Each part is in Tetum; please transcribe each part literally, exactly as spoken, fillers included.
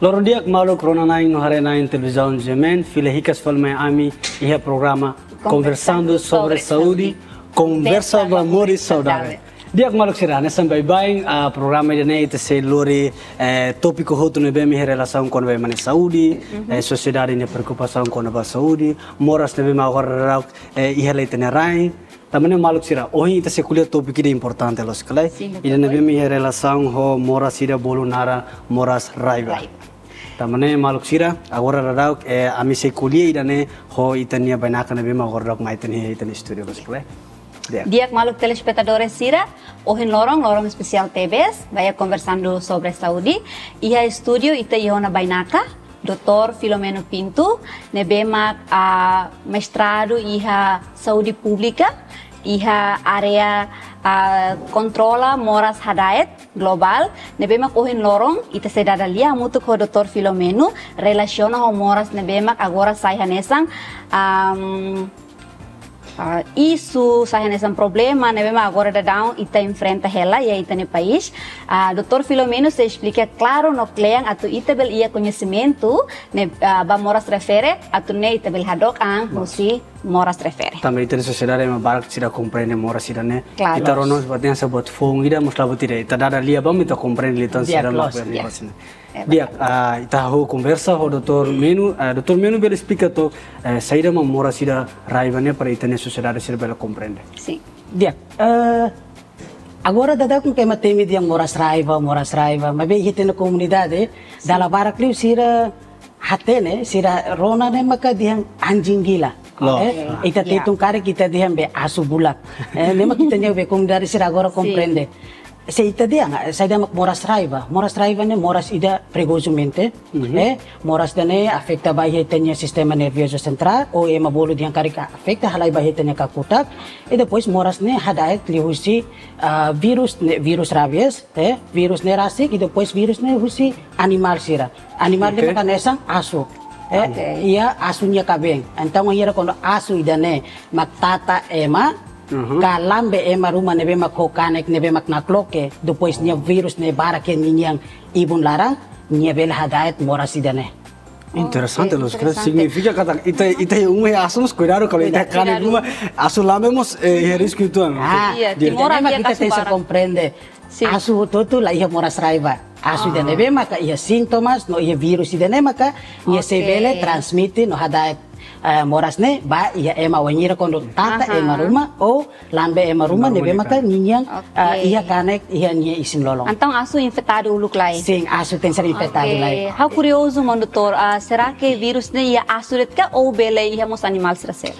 Loron di'ak maluk rona-na'in no haree-na'in televizaun G M N, fila hikas fali mai ami iha programa Conversando sobre Saúde, konversa ba moris saudavel. Di'ak maluk sira, hanesan baibain, ah, programa ida-ne'e ita sei lori, eh, tópiku hotu ne'ebé mak iha relasaun kona-ba ema nia saúde, eh, sosiedade nia preokupasaun kona-ba saúde, moras ne'ebé mak agora daudaun, eh, iha ita-nia rain. Tanba ne'e maluk sira, ohin ita sei ko'alia tópiku ida importante loos ka lae. Sin, ida ne'ebé mak iha relasaun ho moras ida bolu naran moras raiba. Raiba. Tanba ne'e maluk sira, agora daudaun, eh, ami sei ko'alia ida-ne'e ho ita-nia bainaka ne'ebé mak agora daudaun mai iha ita-nia estúdiu loos ka lae. Di'ak. Di'ak maluk telespetadór sira, ohin loron, loron espesiál tebes, ba iha Conversando sobre Saúde, iha estúdiu ita iha ona bainaka, doutór Filomeno Pinto, ne'ebé mak, ah, mestradu iha saúde públika, iha área, ah, kontrola moras hada'et globál, ne'ebé mak ohin loron, ita sei dada lia hamutuk ho doutór Filomeno, relasiona ho moras ne'ebé mak agora sai hanesan, am, ah, isu, sai hanesan problema ne'ebé mak agora daudaun ita enfrenta hela iha ita-nia país. Ah, doutór Filomeno sei esplika klaru no klean atu ita bele iha koñesimentu ne'e, ah, ba moras refere, atu nune'e ita bele hadook an husi moras refere. Tanba ita-nia sosiedade ema barak seidauk komprende moras ida-ne'e. Klaru. Ita rona mós buat ne'e hanesan buat foun ida, mós la buat ida. Ita dada lia ba mak ita komprende liután. Di'ak, sira loos, lakukan di'ak. Moras ne'e. Di'ak, ah, ita hahú konversa ho doutór Meno, ah, doutór Meno bele esplika took, eh, saida mak moras ida raiba ne'e para ita-nia sosiedade sira bele komprende. Sin. Di'ak, eh, agora daudaun ema temi dehan moras raiba, moras raiba, maibé iha ita-nia komunidade, sin, dala barak liu sira hatene, sira rona ne'e maka dehan anjing gila. Loos. Eh, ita, ya, Tetun karik ita dehan be asu bulak. Eh, ne'e mak ita-nia be komunidade sira agora, sin, komprende. Se ita dehan, saida mak moras raiba. Moras raiba ne'e moras ida perigozu mente. Mhm. Eh, moras ida-ne'e afeta ba iha ita-nia sistema nerviozu sentrál, ou ema bolu dehan karik afeta halai ba iha ita-nia kakutak. I depois moras ne'e hada'et liuhusi, ah, vírus ne'e, vírus rabies, eh, vírus ne'e rasik, i depois vírus ne'e husi animál sira. Animál ne'e, oke, maka hanesan asu. Eh, oke, iha asu nia kaben. Entaun, wainhira kuandu asu ida-ne'e mak tata ema, mhm, ka lambe ema ruma ne'ebé mak ho kanek ne'ebé mak nakloke, depois nia vírus ne'e barak iha ninia ibun laran, nia bele hada'et moras ida-ne'e. Interesante, oke, loos ka lae, interesante. Signifika katak ita, ita iha uma iha asu mós kuidadu, kalau ita, kuidadu, kanek ruma, asu lambe mós, eh, iha risku uitoan. Ah, iya, di'ak. Timor ne'e mak ita tenke komprende. Sin. Asu hotu-hotu la iha moras raiba. Asu ida ne'ebé maka iha sintomas, no iha vírus ida-ne'e maka nia sei, oke, bele transmite no hada'et, eh, moras ne'e ba iha ema, wainhira kuandu tata, aha, ema ruma ou lambe ema ruma, ema ruma ne'ebé maka ninia, oke, eh, iha kanek iha nia isin-lolon. Entaun asu infetadu uluk lai? Sin, asu tenke ser infetadu lai. Oke. Ha'u kuriozu maun doutór, ah, será que vírus ne'e iha asu de'it ka ou bele iha mós animál sira seluk?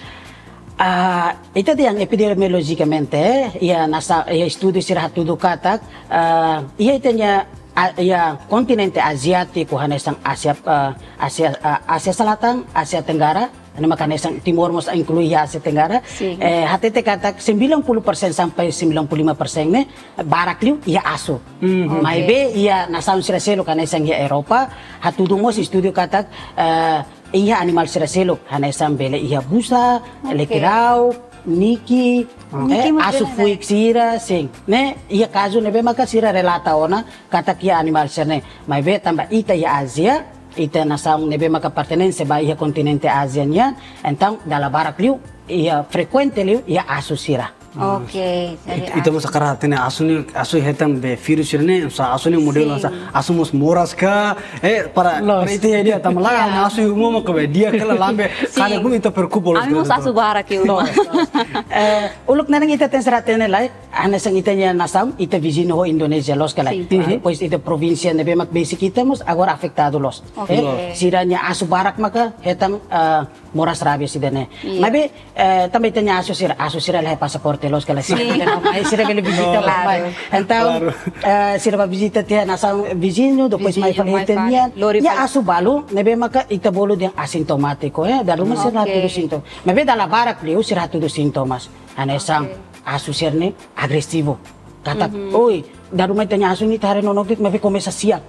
Ah, ita dehan epidemiolojikamente, eh, iha nasa, iha estudu sira hatudu katak, ah, iha ita-nia, ah, iha kontinente aziátiku hanesan Ásia, ah, Ásia, ah, Ásia Selatan, Ásia Tenggara, ne'e maka hanesan Timor mós inklui iha Ásia Tenggara. Sin. Eh, hatete katak sembilan puluh persen sampai sembilan puluh lima persen ne'e barak liu iha asu. Mhm. Maibé, oke, iha nasaun sira seluk hanesan iha Europa, hatudu mós estudu katak, eh, iha animál sira seluk, hanesan bele iha busa, oke, lekirauk, niki, niki, eh, mós asu bele, fuik sira, sin. Ne'e, iha kazu ne'ebé maka sira relata ona katak iha animál sira-ne'e. Maibé tanba ita iha Ázia, ita nasaun ne'ebé maka pertense ba iha kontinente Ázia nian, entaun dala barak liu, iha frekuente liu iha asu sira. Oke, jadi it-, ita asu. Mós hakarak hatene asu ne'e, asu hetan be vírus ne'e, sa asu ne'e modelu, sin, sa asu mós moras ka, eh, para, loos, para ita iha di'ak, tanba lae, ya, asu iha uma maka be di'ak ka lae, lambe, sin, kanek ruma ita preokupa loos. Ami mós asu barak iha uma. Loos. Eh, uluk nanain ita tenke ser hatene lai, hanesan ita-nia nasaun, ita viziñu ho Indonézia loos ka lae. Sin. Mhm. Depois ita provínsia ne'ebé mak besik ita mós agora afetadu loos. Oke. Eh, sira-nia asu barak maka hetan, eh, moras rabies ida-ne'e. Iya. Maibé, eh, tanba ita-nia asu sira, asu sira la iha pasaporte loos ka lae, sira, sin, bele mai, sira bele vizita, loos, mai. Klaru. Entaun, klaru, eh, sira bá vizita tiha nasaun viziñu, depois, viziñu, mai fali, mai fali, ita-nia, lori, ya, fali. Asu balu ne'ebé maka ita bolu dehan asintomátiku, eh, dala ruma sira, oke, la hatudu sintomas. Maibé dala barak liu sira hatudu sintomas. Hanesan, oke, asu sira-ne'e agresivu. Katak, mhm, oi, dala ruma ita-nia asu ne'e ita haree nonook de'it maibé komesa siak.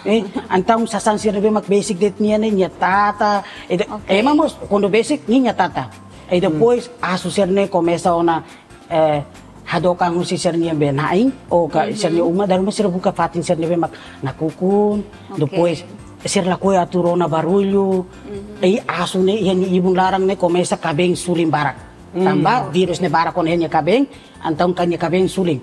Eh, entaun sasán sira ne'ebé mak besik de'it nia ne'e, nia tata. Eh, de-, oke, ema mós kuandu besik nia, nia tata. Eh, hmm, depois asu sira-ne'e komesa ona, eh, hadook an husi sira-nia be na'in, ou ka, mhm, sira-nia uma, dala ruma sira buka fatin sira ne'ebé mak nakukun, oke, depois sira lakohi atu rona barullu, i asu ne'e iha nia ibun laran ne'e komesa kabeen sulin barak. Tanba vírus ne'e barak ona iha nia kabeen, entaun ka nia kabeen sulin.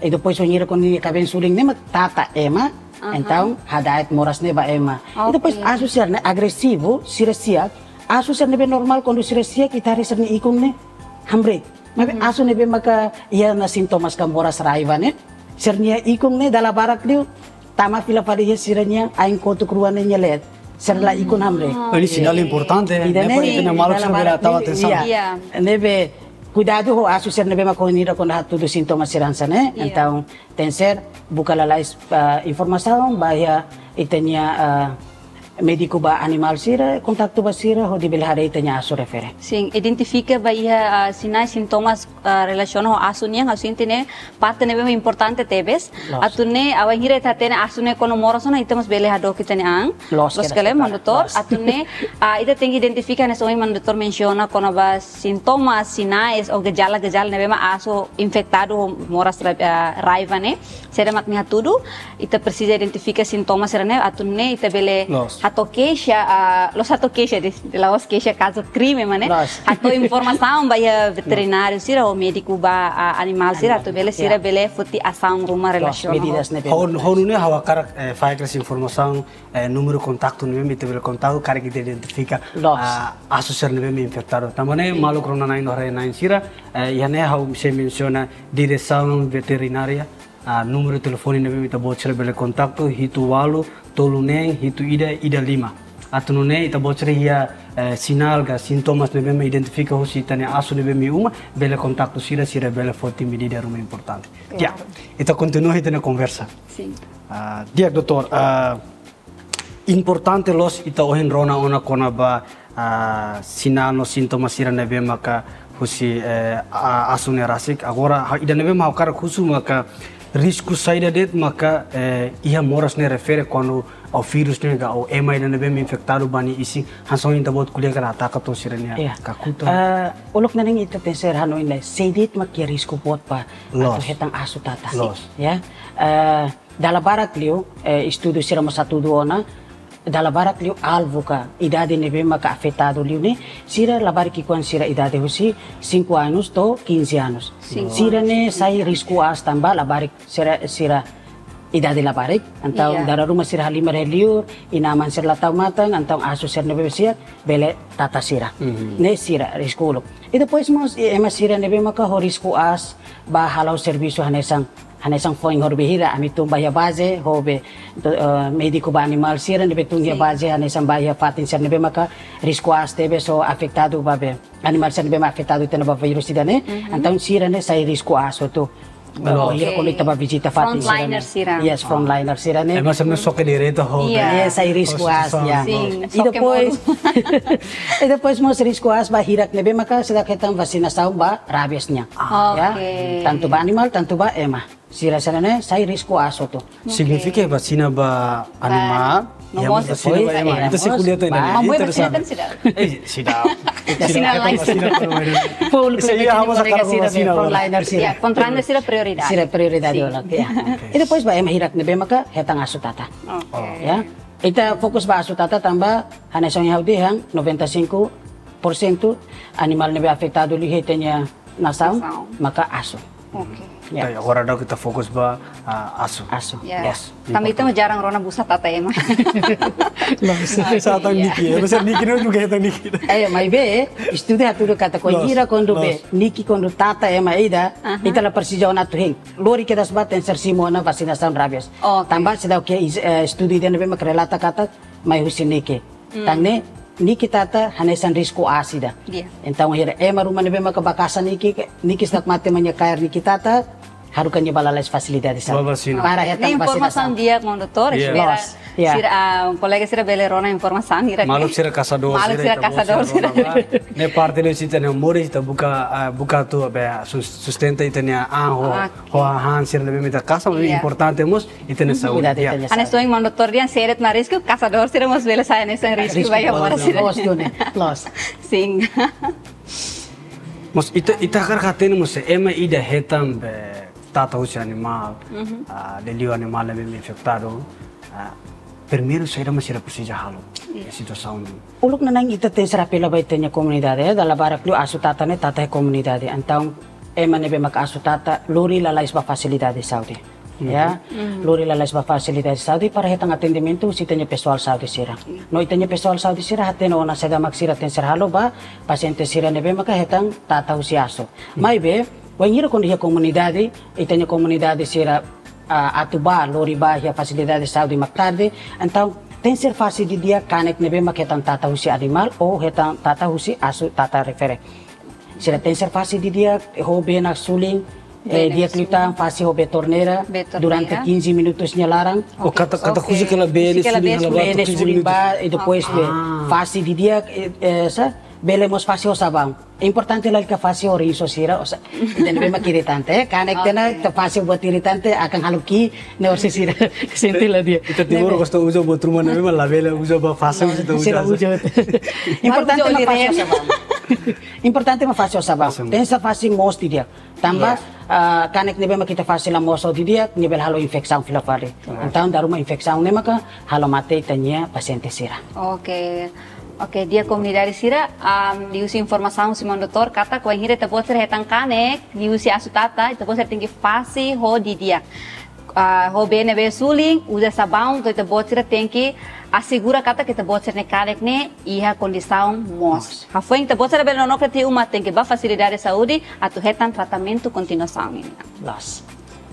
I depois wainhira kuandu nia kabeen sulin ne'e mak tata ema, entaun hada'et moras ne'e ba ema. I depois asu sira ne'e agresivu, sira siak, asu sira ne'ebé normál kuandu sira siak ita haree sira-nia ikun ne'e hamriik. Maibé asu ne'ebé maka iha ona sintomas ka moras raiva ne'e, sira-nia ikun ne'e dala barak liu tama fila fali iha sira-nia ain kotuk rua ne'e nia leet. Sira la ikun hamriik. Oh, ini sinál importante, ne'e para ita-nia maluk sira bele tau atensaun. Ne'ebé kuidadu ho asu sira ne'ebé maka ohin ita kuandu hatudu sintomas sira hanesan ne'e. Entaun tenkesér buka lalais informasaun ba iha ita-nia médiku ba animál sira, kontaktu ba sira hodi bele haree ita-nia asu refere. Sin, identifika ba iha sinál, sintomas relasiona ho asu nian, asu inti ne'e parte ne'ebé importante tebes. Atu nune'e wainhira ita hatene asu ne'e kuandu moras ona, ita mós bele hadook ita-nia an. Loos kele, maun doutór. Atu nune'e ita tenke identifika hanesan ohin maun doutór mensiona kona-ba sintomas, sinais ou jejala-jejala ne'ebé mak asu infetadu ho moras raiva ne'e. Saida mak nia hatudu, ita presiza identifika sintomas sira ne'e atu nune'e ita bele hato'o keixa, la'ós hato'o keixa de'it, la'ós keixa kazu krime mak ne'e. Hato'o informasaun ba iha veterináriu sira ou médiku ba animál sira atu bele sira bele foti asaun ruma relasiona ho medidas ne'ebé. Ho nune'e ha'u hakarak fahe kedas informasaun, númeru kontaktu ne'ebé ita bele kontaktu karik ita identifika asu sira ne'ebé infetadu. Tanba ne'e maluk rona-na'in no haree-na'in sira, iha ne'e ha'u sei mensiona diresaun veterinária, númeru telefone ne'ebé ita-boot sira bele kontaktu, hitu ualu, tolu neen, hitu ida, ida lima. Atu nune'e ita-boot sira iha sinál ka sintomas ne'ebé identifika husi ita-nia asu ne'ebé iha uma, bele kontaktu sira, sira bele foti medida ruma importante. Ya, ita kontinua ita-nia konversa. Sin. Di'ak, doutór, importante loos ita ohin rona ona kona-ba sinál no sintomas sira ne'ebé maka husi asu ne'e rasik. Agora ida ne'ebé mak ha'u hakarak husu maka risku saida de'it maka iha moras ne'e refere kuandu vírus ne'e ka ema ida ne'ebé infetadu ba nia isin, hanesan ohin ita-boot ko'alia katak ataka to'o sira-nia kakutak. Uluk nanain ita tenkesér hanoin lai, sé de'it mak iha risku boot ba atu hetan asu tata. Ya. Dala barak liu, estudu sira mós hatudu ona, dala barak liu alvu ka idade ne'ebé maka afetadu liu ne'e, sira labarik ki'ikoan sira idade husi cinco anos to'o quinze anos. Sira ne'e sai risku aas tanba labarik sira, sira idade labarik, entaun dala ruma sira halimar iha liur, inan-aman sira la tau matan, entaun asu sira ne'ebé siak bele tata sira. Ne'e sira risku uluk. I depois mós ema sira ne'ebé maka ho risku aas ba hala'o servisu hanesan hanesan foin horibainhira ami tun ba iha baze, ho be médiku ba animál sira ne'ebé tun iha baze, hanesan ba iha fatin sira ne'ebé maka risku aas tebes ou afetadu ba be animál sira ne'ebé mak afetadu tiha ona ba vírus ida ne'e. Entaun sira ne'e sai risku aas hotu. Bainhira kuandu ita ba vizita fatin sira ne'e. Frontliner sira. Yes, frontliner sira ne'e. Ema sira ne'e xoke direta ho. Yes, sai risku aas, ya. I depois, i depois mós risku aas ba hirak ne'ebé maka seidauk hetan vasinasaun ba rabies nian. Ya. Tantu ba animál, tantu ba ema. Sira sira ne'e sai risku aas hotu. Signifika vasina ba animál, no mós vasina ba ema. Ita sei ko'alia tan ne'e. Ita sei ko'alia tan ne'e. Seidauk. Vasina lain. Públiku sira, frontliner sira. Frontliner sira prioridade. Sira prioridade uluk, ya. I depois ba ema hirak ne'ebé maka hetan asu tata. Ya. Ita fokus ba asu tata tanba hanesan ohin ha'u dehan, noventa e cinco por cento animál ne'ebé afetadu liu iha ita-nia nasaun maka asu. Oke. Ya. Agora daudaun ita fokus ba asu. Asu. Ya. Yes. Tanba ita mós jarang rona busa tata ema. Sá tan niki, ema sira niki no juga hetan niki. Maibé estudu hatudu katak kuandu ita kuandu be niki kuandu tata ema ida, ita la presiza ona atu hein. Lori kedas ba tenkesér simu ona vasinasaun rabies. Tanba seidauk iha estudu ida ne'ebé mak relata katak mai husi niki. Tan ne'e, niki tata hanesan risku aas ida. Entaun, bainhira ema ruma ne'ebé maka ba kasa niki, niki seidauk mate ema nia kaer niki tata, haruka nia ba lalais fasilidade sira. Ba vasina. Para hetan vasinasaun. Ne'e informasaun di'ak, maun doutór, espera sira, kolega sira bele rona informasaun hirak ne'e. Maluk sira kasadór sira, ita-boot sira rona ba. Ne'e parte de ita-nia moris, ita buka, buka atu be sustenta ita-nia an ho hahán sira ne'ebé mak ita kasa, importante mós ita-nia saúde. Hanesan ohin maun doutór dehan, sé de'it mak risku, kasadór sira mós bele sai hanesan risku ba iha moras sira. Loos. Sin. Mós ita, ita hakarak hatene mós se ema ida hetan be tata husi animál, liuliu animál ne'ebé infetadu, primeiru saida mak sira presiza halo. Iya. Situasaun ne'e. Uluk nanain ita tenke ser apela ba ita-nia komunidade, eh, dala barak liu asu tata ne'e tata iha komunidade. Entaun, ema ne'ebé maka asu tata, lori lalais ba fasilidade saúde. Ya, lori lalais ba fasilidade saúde para hetan atendimentu husi ita-nia pesoál saúde sira. No ita-nia pesoál saúde sira hatene ona saida mak sira tenke ser halo ba pasiente sira ne'ebé maka hetan tata husi asu. Maibé, wainhira kuandu iha komunidade, ita-nia komunidade sira, ah, atu ba, lori ba iha fasilidade saúde mak tarde, entaun tenke ser fase didi'ak kanek ne'ebé maka hetan tata husi animál ou hetan tata husi asu tata refere. Sira tenke ser fase didi'ak, ho bee na sulin, eh, bee na di'ak sulin. Liután fase ho bee torneira, bee torneira, durante quinze minutos nia laran. O kata, kata oke, husi kela bee ne'e sulin, bee ne'e sulin ba, e depois bee. Ah. Fase didi'ak, eh, eh, sa, bele mós fase ho sabaun. Importante lalika fase ho rinso sira, o sa, ida ne'ebé mak iritante, eh, kanek tiha ona, oke, ita fase buat iritante, akan halo kiik, ne'e orsida sira sente la di'ak. Ita Timor gosta uza buat ruma ne'ebé mak labele uza ba fase, sira uza. Sira uza. Importante mak fase ho sabaun. Importante mak fase ho sabaun. Fase. Tenke ser fase moos didi'ak. Tanba, yes, ah, kanek ne'ebé mak ita fase la moos ho didi'ak, ne'e bele halo infesaun fila fali. Yes. Entaun, dala ruma infesaun ne'e maka halo mate ita-nia pasiente sira. Oke. Oke, di'ak komunidade sira, am, liuhusi informasaun husi maun doutór, katak wainhira ita-boot sira hetan kanek liuhusi asu tata, ita-boot sira tenke fase ho didi'ak. Ah, ho bee ne'ebé sulin, uza sabaun, to'o ita-boot sira tenke asegura katak ita-boot sira-nia kanek ne'e iha kondisaun moos. Moos. Hafoin ita-boot sira bele nonook tiha uma, tenke ba fasilidade saúde atu hetan tratamentu kontinuasaun nian. Loos.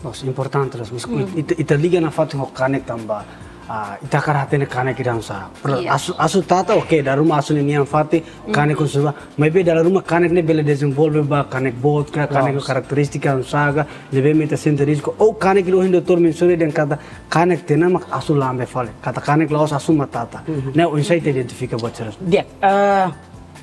Loos, importante loos. Mas ita, ita liga nafatin ho kanek tanba, ah, ita hakarak hatene kanek ida oinsá. Yes. Asu, asu tata, oke, dala ruma asu ne'e nian fatin, kanek konsuba. Maibé dala ruma kanek ne'e bele dezenvolve ba kanek boot ka, kanek ho karakterístika oinsá ka, ne'ebé mak ita sente risku. Ou kanek ida ohin doutór mensiona dehan katak kanek tiha ona mak asu lambe fali. Katak kanek la'ós asu mak tata. Ne'e oinsá ita identifika buat sira. Di'ak, eh,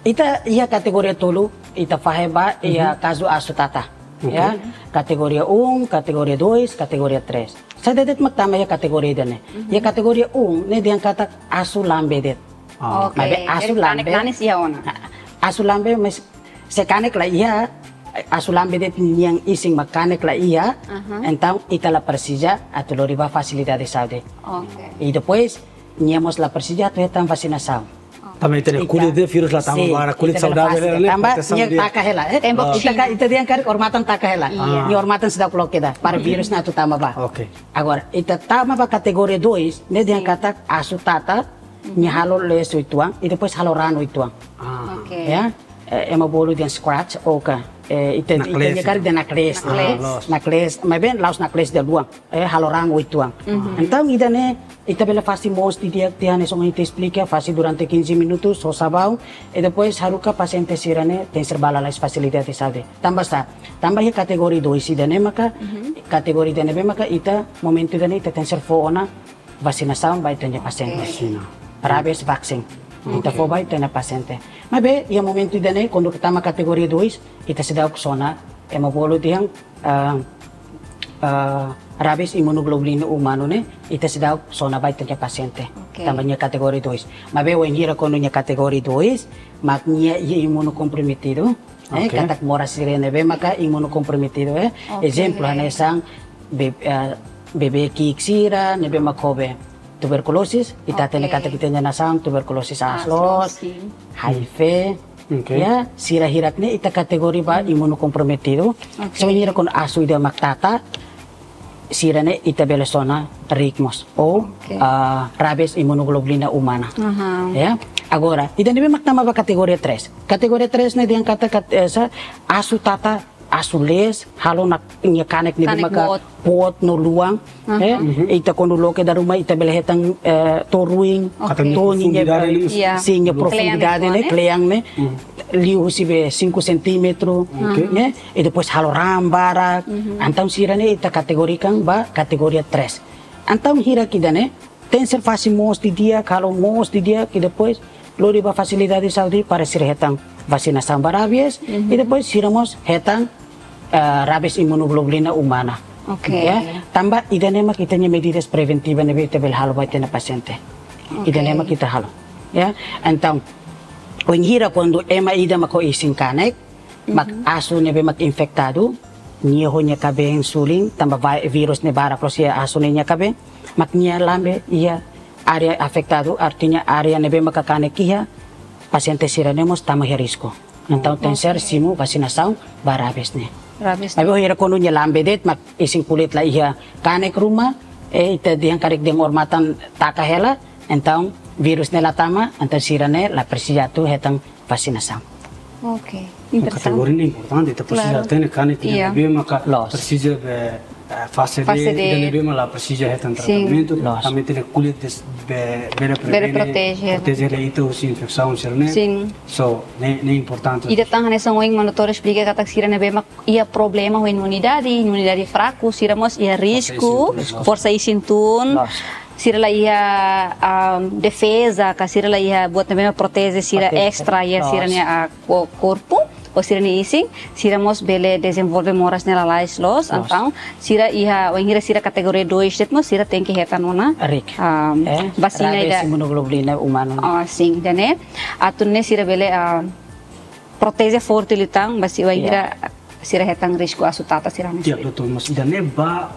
ita iha kategoria tolu, ita fahe ba iha kazu asu tata. Oke. Ya, kategoria um, kategoria dois, kategoria três. Saida de'it mak tama iha kategoria ida-ne'e? Iha kategoria um, ne'e dehan katak asu lambe de'it. Ah. Oke. Maibé asu lambe. Jadi kanek nanis iha ona. Asu lambe, mas se kanek la iha, asu lambe de'it nian isin mak kanek la iha, entaun ita la presiza atu lori ba fasilidade saúde. Oke. E depois, nia mós la presiza atu hetan vasinasaun. Tanba ita-nia kulit de'it vírus la tama ba, kulit saudável, ita bele fase, ne'e, tanba protesaun nia di'ak. Taka hela, eh? Tembok ita ka, ita dehan karik odamatan taka hela. Iya. Nia odamatan seidauk loke ida, para vírus ne'e atu tama ba. Oke. Agora, ita tama ba kategoria dois, ne'e dehan katak asu tata, nia halo lees uitoan, e depois halo raan uitoan. Ah. Oke. Ya? Eh, ema bolu dehan scratch, ou ka, eh, ita, ita naklees, dehan karik dehan naklees. Naklees. Ah, loos. Naklees, maibé la'ós naklees dala luan, eh, halo raan uitoan. Entaun, ida-ne'e, ita bele fase moos didi'ak tiha hanesan ohin ita esplika, fase durante quinze minutos ho sabaun, e depois haruka pasiente sira-ne'e tenke ser ba lalais fasilidade saúde. Tanba sá, tanba iha kategoria dois ida-ne'e maka, kategoria ida ne'ebé maka ita, momentu ida-ne'e ita tenke ser fó ona vasinasaun ba ita-nia pasiente. Oke. Vasina. Rabies vaccine. Ita fó ba ita-nia pasiente. Maibé, iha momentu ida-ne'e, kuandu ita tama kategoria dois, ita seidauk sona, ema bolu dehan, ah, ah, rabies imunoglobulina umanu ne'e, ita seidauk sona ba ita-nia pasiente. Oke. Tanba nia kategoria dois. Maibé wainhira kuandu nia kategoria dois, mak nia iha imunokomprometidu. Eh, oke. Katak moras sira ne'ebé maka imunokomprometidu, eh. Oke. Ezemplu, hanesan be-, eh, bebé ki'ik sira ne'ebé mak ho be tuberkulosis, ita hatene katak ita-nia nasaun tuberkulosis aas loos, aas loos, sin. H I V, oke, ya, sira hirak-ne'e ita kategoria ba imunokomprometidu. Oke. Se wainhira kuandu asu ida mak tata, sira-ne'e ita bele sona riik mós, ou, oke, ah, rabies imunoglobulina umana. Aha. Ya. Agora, ida ne'ebé mak tama ba kategoria três. Kategoria três ne'e dehan katak, kat-, eh, sa, asu tata, asu lees, halo nak-, nia kanek ne'ebé maka boot. Kanek boot no luan, aha, eh, ita kuandu loke dala ruma ita bele hetan, eh, to'o ruin, oke, to'o nia profundidade, nia, iya, sin, nia profundidade ne'e, kle'an ne'e, kle'an ne'e, liu husi be cinco centímetro, oke, ne'e, e depois halo raan barak, entaun sira-ne'e ita kategorikan ba kategoria três. Entaun hirak ida-ne'e, tenke ser fase moos didi'ak, halo moos didi'ak, e depois lori ba fasilidade saúde para sira hetan vasinasaun ba rabies, e depois sira mós hetan, eh, rabies imunoglobulina umana. Oke. Ya, tanba ida-ne'e mak ita-nia medidas preventiva ne'ebé ita bele halo ba ita-nia pasiente. Oke. Ida-ne'e mak ita halo. Ya, entaun, wainhira kuandu ema ida mak ho isin kanek, mak asu ne'ebé mak infektadu, nia ho nia kabeen sulin, tanba vai-, vírus ne'e barak loos iha asu ne'e nia kabeen, mak nia lambe iha área afetadu, artinya área ne'ebé maka kanek iha, pasiente sira-ne'e mós tama iha risku. Entaun tenkesér simu vasinasaun ba rabis ne'e. Rabis. Maibé bainhira kuandu nia lambe de'it, mak isin kulit la iha kanek ruma, eh, ita dehan karik dehan odamatan taka hela, entaun vírus ne'e la tama, entaun sira-ne'e la presiza atu hetan vasinasaun. Oke, interesante. Kategoria ne'e importante, ita presiza Klaru. Hatene kanek ida Iya. ne'ebé maka Loos. presiza be, eh, fase D, Fase D. ida ne'ebé mak la presiza hetan Sin. tratamentu, Loos. tanba ita-nia kulit des-, be, bele Bele prevene, proteje. proteje ita husi infesaun sira-ne'e. Sin. So, ne'e, ne'e importante. Ida tan hanesan ohin Maun Doutór esplika katak sira ne'ebé mak iha problema ho imunidade, imunidade fraku, sira mós iha risku, Forsa isin tun. forsa isin tun. Loos. Sira la iha, ah, defeza, ka sira la iha buat ne'ebé mak proteje sira Proteje. estra iha Loos. sira-nia, ah, ko-, korpu, ou sira-nia isin, sira mós bele dezenvolve moras ne'e lalais loos, Loos. entaun, sira iha, wainhira sira kategoria dois de'it mós, sira tenke hetan ona, Rik. ah, Eh, vasina rabis ida. imunoglobulina umanu. Ah, sin, ida-ne'e, atu nune'e sira bele, ah, proteje forte liután, basi wainhira Ya. sira hetan risku asu tata sira-ne'e. Ya, sira. Doutór, mas ida-ne'e ba,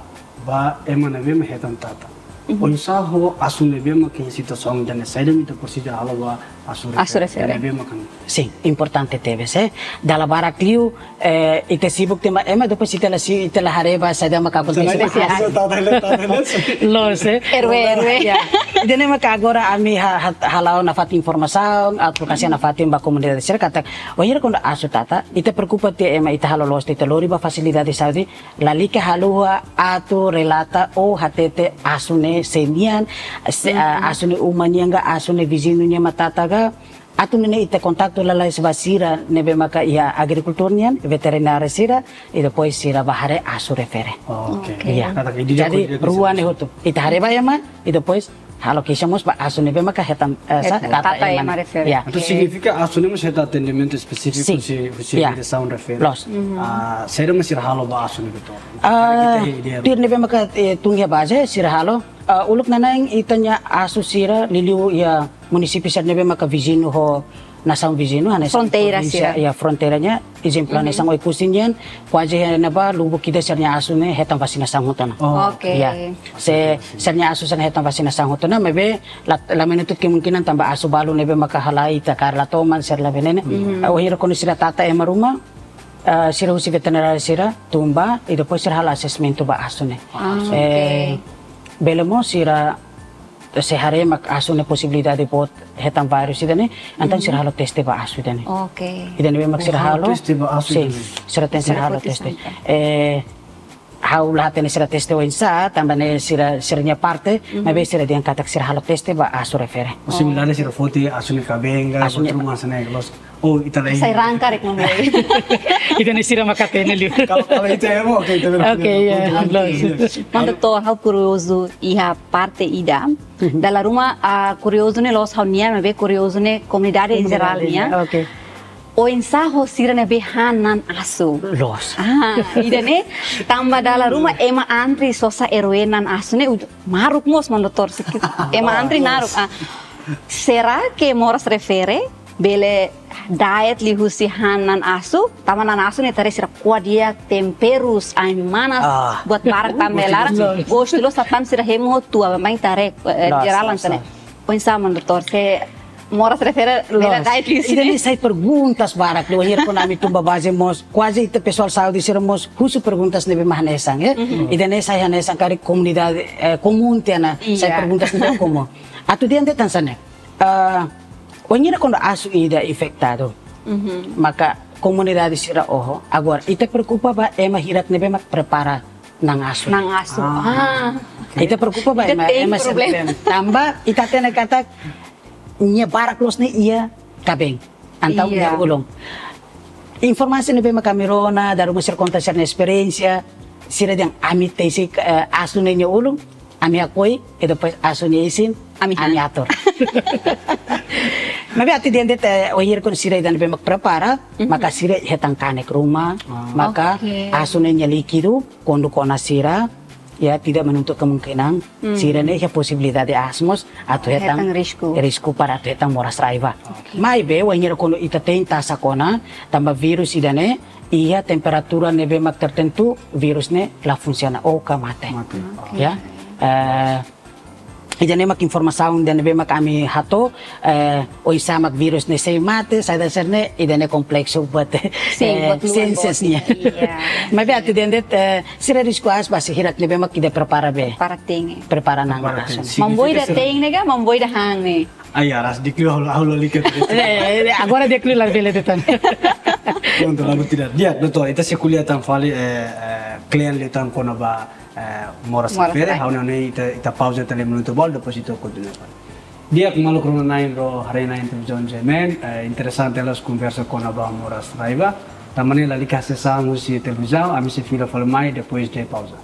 ba ema ne'ebé mak hetan tata. Mhm. Oinsá ho asu ne'ebé mak iha situasaun ida-ne'e, saida mak ita presiza halo ba asu Asu refere, refere. ida ne'ebé mak kan. Sin, importante tebes, eh. Dala barak liu, eh, ita sibuk tema ema, depois ita la si, ita la haree ba saida mak akontese. Saida mak akontese. Loos, eh. Erwe, erwe. Ya. Ida-ne'e maka agora ami ha-, ha-, hala'o nafatin informasaun, advokasia nafatin ba komunidade sira katak, wainhira kuandu asu tata, ita preokupa tiha ema ita halo loos, ita lori ba fasilidade saúde, lalika haluha atu relata ou hatete asu ne'e sé nian, se, Mhm. ah, asu ne'e uma nian ka, asu ne'e viziñu nian mak tata ka, atu nune'e ita kontaktu lalais ba sira ne'ebé maka iha agrikultór nian, veterinária sira, i depois sira bá haree asu refere. Oke. Oke. Iya. Katak ida Jadi, koi-, rua ne'e hotu. Ita haree ba ema, i depois halo keixa mós ba asu ne'ebé maka hetan, eh, sa-, Hetan. tata Tata ema ema ne'e. refere. Ya. Entaun Oke. signifika asu ne'e mós hetan atendimentu espesífiku Sin. husi, husi Ya. diresaun refere. Loos. Mhm. Ah, saida mak sira halo ba asu ne'e, doutór? Ah, Ita hetan ideia. tuir ne'ebé maka, eh, tun iha baze, sira halo. Ah, uluk nanain ita-nia asu sira liuliu iha munisípiu sira ne'ebé maka viziñu ho nasaun viziñu, hanesan Fronteira provínsia, sira. ya, fronteira nian, ezemplu, Mhm. hanesan Oekusi nian, kuaze iha ne'ebá lubuk ida sira-nia asu ne'e hetan vasinasaun hotu ona. Oh. Oke. Ya. Se, sira-nia asu sira hetan vasinasaun hotu ona, maibé la, la menutup kemungkinan tanba asu balu ne'ebé maka halai ita kaer la toman, sira la venene. Mhm. Ah, wainhira kuandu sira tata ema ruma, ah, sira husi veterinária sira tun bá, i depois sira halo asesmentu ba asu ne'e. Ah, Eh, oke. bele mós sira se haree mak asu ne'e posibilidade boot hetan vírus ida-ne'e, entaun Mhm. sira halo teste ba asu ida-ne'e. Oke. Ida-ne'e mak sira Oh, halo halo. teste ba asu Sin, ida-ne'e. sira teste Sira halo foti teste. santa. Eh, ha'u la hatene sira teste oinsá, tanba ne'e sira, sira-nia parte, Mhm. maibé sira dehan katak sira halo teste ba asu refere. Posibilidade Oh. sira foti asu ne'e kaben ka, Asu ne'e buat ruma hanesan ne'e, loos. Oh, ita la Sai ingin. rangka rek mamoi. Ida-ne'e sira maka hatene liu. Kalau, kalau itu ya, oke, itu benar. Oke, ya, Untuk loos. Iya. Maun Doutór, ha'u kuriozu iha parte ida. Mhm. Dala ruma, ah, kuriozu ne'e loos ha'u-nian, maibé kuriozu ne'e komunidade em geral Komunidade, nian. ya, oke. Oinsá ho sira ne'ebé han na'an asu. Loos. Ah, ida-ne'e, tanba dala ruma ema antri sosa erwe na'an asu ne'e, uj-, naruk mós, Maun Doutór, sikit. Ema antri Loos. naruk. Ah, será que moras refere bele da'et liuhusi han na'an asu, tanba na'an asu ne'e ita haree sira ko'a di'ak, temperus, ain-manas, Ah. buat barak tanba Gostu, laran, gostu. gostu loos, satán sira hemu ho tua, maibé ita haree, eh, Loos, jeral loos, hanesan ne'e. loos. Oinsá, Maun Doutór, se moras refere bele Loos. da'et liuhusi Ida-ne'e ne'e? sai perguntas barak, liu wainhira kuandu ami tun ba baze mós, kuaze ita pesoál saúde sira mós husu perguntas ne'ebé mak hanesan, eh? Mhm. Ida-ne'e sai hanesan karik komunidade, eh, komún tiha ona, sai Iya. perguntas ne'ebé komún. Atu dehan de'it hanesan ne'e. Ah, wainhira kuandu asu ida infetadu, Mhm. maka komunidade sira oho. Agora, ita preokupa ba ema hirak ne'ebé mak prepara na'an asu. Na'an asu. Ah. Ah. Ita preokupa ba Ita ema, tem ema problema. sira tanba ita hatene katak nia barak loos ne'e iha kaben. Entaun Iya. iha ulun. Informasi ne'ebé mak ami rona, dala ruma sira konta sira-nia esperiénsia, sira dehan ami tesi, eh, asu ne'e nia ulun, ami hakoi, i depois asu nia isin, Ami han. ami atur. Maibé atu dehan de'it, eh, wainhira kuandu sira ida ne'ebé mak prepara, Mhm. maka sira hetan kanek ruma, Ah. maka Oke. asu ne'e nia líkidu, kuandu kona sira, ya, tidak menutup kemungkinan, Hmm. sira-ne'e iha posibilidade aas mós atu hetan Hetan risku. risku para atu hetan moras rai ba. Oke. Maibé, wainhira kuandu ita tein tasak ona, tanba vírus ida-ne'e, iha temperatura ne'ebé mak tertentu, vírus ne'e la funsiona ou ka mate. Mate. Oke. Ya. Eh, ida-ne'e mak informasaun ida ne'ebé mak ami hato'o, eh, oinsá mak vírus ne'e sei mate, saida sira-ne'e, ida-ne'e kompleksu buat, Sin, eh, buat luan siénsia boot nian. Iya. Maibé atu dehan de'it, eh, sira risku aas ba sira hirak ne'ebé mak ida prepara be. Prepara te'in. Prepara nang. Prepara te'in. Asun. Signifika mamboira sira te'in ne'e ka, mamboira han ne'e. Ai, aras, di'ak liu ha'u la, ha'u la lalika. Eh, eh, agora di'ak liu la bele de'it tan. Prontu, la buat ida. Di'ak, doutór, ita sei ko'alia tan fali, eh, eh, kle'an liután kona-ba, eh, moras refere, ha'u hanoin ita, ita pauza tiha lima minutu balu, depois ita kontinua fali. Di'ak maluk rona-na'in no haree-na'in televizaun G M N, eh, interesante loos konversa kona-ba moras raiva. Tanba ne'e lalika hasees an husi televizaun, ami sei fila fali mai depois de pauza.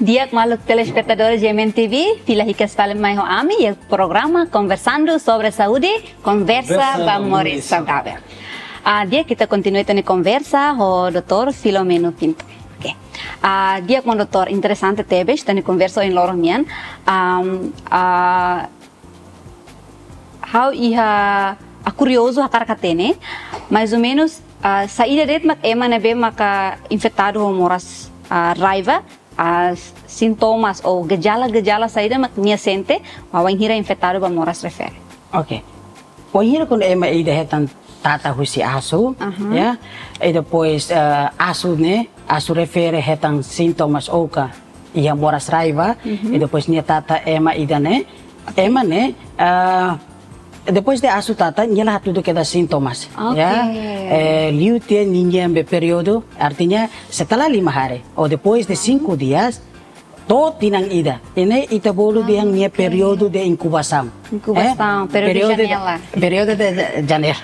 Di'ak maluk telespetadór G M N T V, fila hikas fali mai ho ami iha programa Conversando sobre Saúde, konversa ba moris saudavel. Ah, di'ak, ita kontinua ita-nia konversa ho doutór Filomeno Pinto. Oke. Ah, di'ak maun doutór, interesante tebes ita-nia konversa ohin loron nian. Am, ah, ha'u iha, ah, kuriozu hakarak hatene, mais ou menus, ah, saida de'it mak ema ne'ebé maka infetadu ho moras, ah, raiva, ah, sintomas ou gejala-gejala saida mak nia sente, wainhira infetadu ba moras refere. Oke. Wainhira kuandu ema ida hetan tata husi asu, Aha. ya, e depois, eh, asu ne'e, asu refere hetan sintomas ou ka iha moras raiva, Mhm. e depois nia tata ema ida-ne'e, ema ne'e, eh, depois de asu tata, nia la hatudu kedas sintomas, Oke. ya. Eh, liu tiha ninia be períodu, artinya setelah lima hari, ou depois de cinco dias, to'o tinan ida. Ne'e ita bolu dehan nia Oke. períodu de inkubasaun. Inkubasaun, Eh, períodu períodu de, janela. períodu de janela.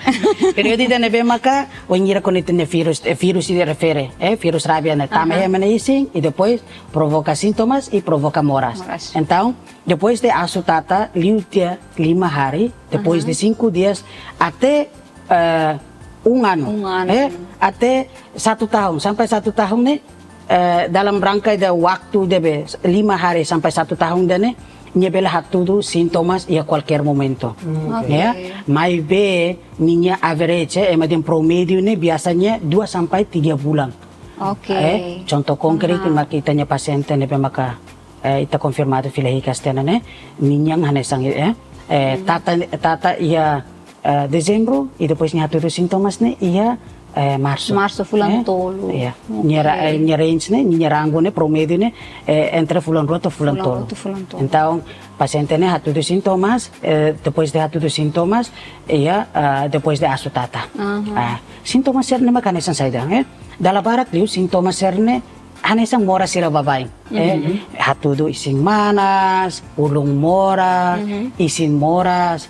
Períodu ida ne'ebé maka, wainhira kuandu ita-nia vírus, eh, vírus ida refere, eh, vírus rabia ne'e tama Aha. iha ema nia isin, e depois provoka sintomas e provoka moras. Moras. Entaun, depois de asu tata, liu tiha lima hari, depois Aha. de cinco dias, até, eh, um ano. Um ano. Eh, até satu tahun, sampai satu tahun ne'e, eh, dalam rangka ida waktu ida be lima hari sampai satu tahun ida-ne'e, nia bele hatudu sintomas iha kualkér momentu. Hmm, oke. Oke. Ya, maibé ninia average, eh, ema dehan promédiu ne'e biasanya dua sampai tiga bulan. Oke. Eh, contoh konkret Aha. mak ita-nia pasiente ne'ebé maka, eh, ita konfirmadu fila hikas tiha ona ne'e, ninia hanesan, eh, eh, Hmm. tata, tata iha eh, Dezembru, e depois nia hatudu sintomas ne'e iha, eh, Marsu. Marsu, fulan Eh, tolu. Iya. Oke. Nia ra-, eh, nia range ne'e, nia rangu ne'e, promédiu ne'e, eh, entre fulan rua to'o fulan Fulan tolu. rua to'o fulan tolu. Entaun, pasiente ne'e hatudu sintomas, eh, depois de hatudu sintomas, iha, ah, depois de asu tata. Aha. Ah, sintomas sira-ne'e mak hanesan saida, eh? Dala barak liu sintomas sira-ne'e hanesan moras sira baibain, eh? Mhm. Hatudu isin manas, ulun moras, Mhm. isin moras,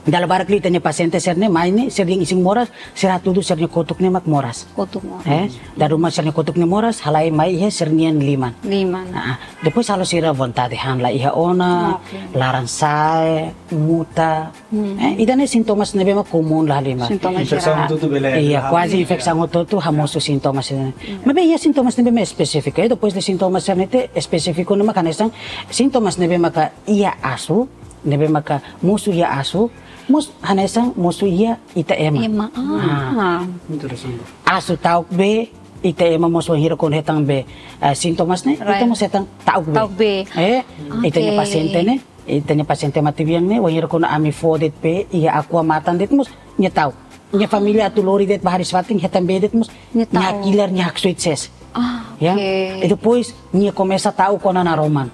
Dala barak liu ita-nia pasiente sira-ne'e mai ne'e, sira dehan isin moras, sira hatudu sira-nia kotuk ne'e mak moras. Kotuk moras. Eh, dala ruma sira-nia kotuk ne'e moras, halai mai iha sira-nia liman. Liman. Ah, depois halo sira vontade han la iha ona, Oke. laran sa'e, muta. Hmm. Eh, ida-ne'e sintomas ne'ebé mak komún la halimar. Sintomas Infesaun gerais. hotu-hotu bele Iya, halimar, kuaze ya. infesaun hotu-hotu hamosu sintomas ne'e. Hmm. Maibé iha sintomas ne'ebé mak espesífiku, eh, depois de sintomas sira-ne'e ne'e espesífiku ne'e mak hanesan sintomas ne'ebé maka iha asu, ne'ebé maka mosu iha asu, mós hanesan mosu iha ita ema. Ema, ah. Ah. Interesante. Asu ta'uk bee, ita ema mós wainhira kuandu hetan bee, eh, sintomas ne'e, Right. ita mós hetan ta'uk bee. Ta'uk bee. Eh, ita-nia Oke. pasiente ne'e, ita-nia pasiente matebian ne'e, wainhira kuandu ami fó de'it bee, iha Aqua matan de'it mós, nia ta'uk. Nia família atu lori de'it ba hariis-fatin, hetan bee de'it mós, Nia nia ta'uk. hakilar, nia haksoit sees. Ah, Ya. oke. E depois, nia komesa ta'uk ona naroman.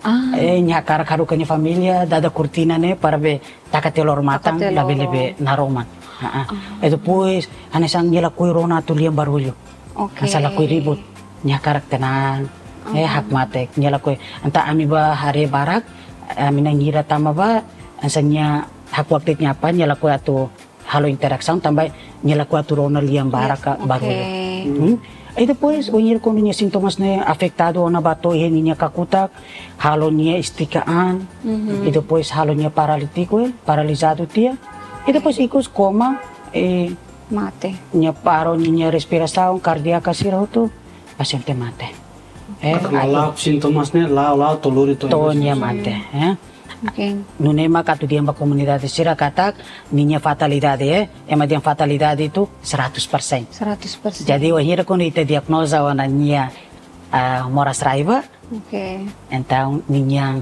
Ah. Eh, nia hakarak haruka nia família, dada kortina ne'e, para bee taka tiha loro matan, Taka tiha labele loro. bee naroman. Ah, ah. Ah. E depois, hanesan nia lakohi rona atu lian barullu. Oke. Hanesan lakohi ribut. Nia hakarak tenang. Eh, Ah. hakmatek, nia lakohi. Entaun ami bá haree barak, ami na'in hira tama bá, hanesan nia hakuak de'it nia apá, nia lakohi atu halo interasaun tanba nia lakohi atu rona lian barak ka Yes, barullu. oke. Hmm? E depois, wainhira kuandu nia sintomas ne'e afetadu ona ba to'o iha ninia kakutak, halo nia estika an, Mhm. e depois halo nia paralítiku, eh, paralizadu tiha. E depois ikus koma, eh, Mate. nia paro ninia respirasaun kardiaka sira hotu, pasiente mate. Eh, Atu atu la'o sintomas ne'e, la'o, la'o to'o lori to'o to'o ikus. nia mate, eh. Oke. Nune'e mak atu dehan ba komunidade sira katak ninia fatalidade, eh, ema dehan fatalidade itu seratus persen. Seratus persen. Jadi, wainhira kuandu ita diagnoza ona nia, ah, moras raiva, oke, entaun ninia,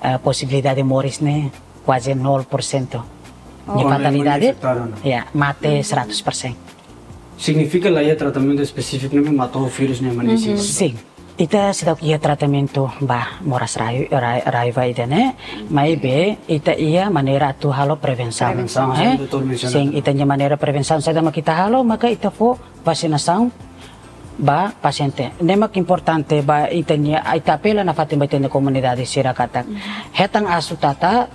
ah, posibilidade moris ne'e kuaze nol por cento. Oh. Nia fatalidade, infektadu ona, ya, mate seratus persen. Signifika la iha tratamentu espesífiku ne'ebé mata ho vírus ne'e mak ne'e sih? Sin. Ita seidauk iha tratamentu ba moras rai-, rai-, raiva ida-ne'e, maibé ita iha maneira atu halo prevensaun. Prevensaun, eh? Doutór mensiona. Sin, ita-nia maneira prevensaun saida mak ita halo, maka ita fó vasinasaun ba pasiente. Ne'e mak importante ba ita-nia, ita apela nafatin ba ita-nia komunidade sira katak hetan asu tata,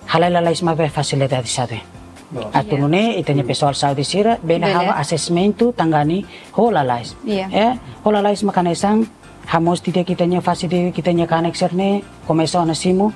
halai lalais maibé fasilidade saúde. Loos. Atu nune'e ita-nia pesoál saúde sira bele halo asesmentu tangani ho lalais. Iya. Eh, ho lalais mak hanesan hamoos tiha ita-nia fase didi'ak ita-nia kanek sira-ne'e, komesa ona simu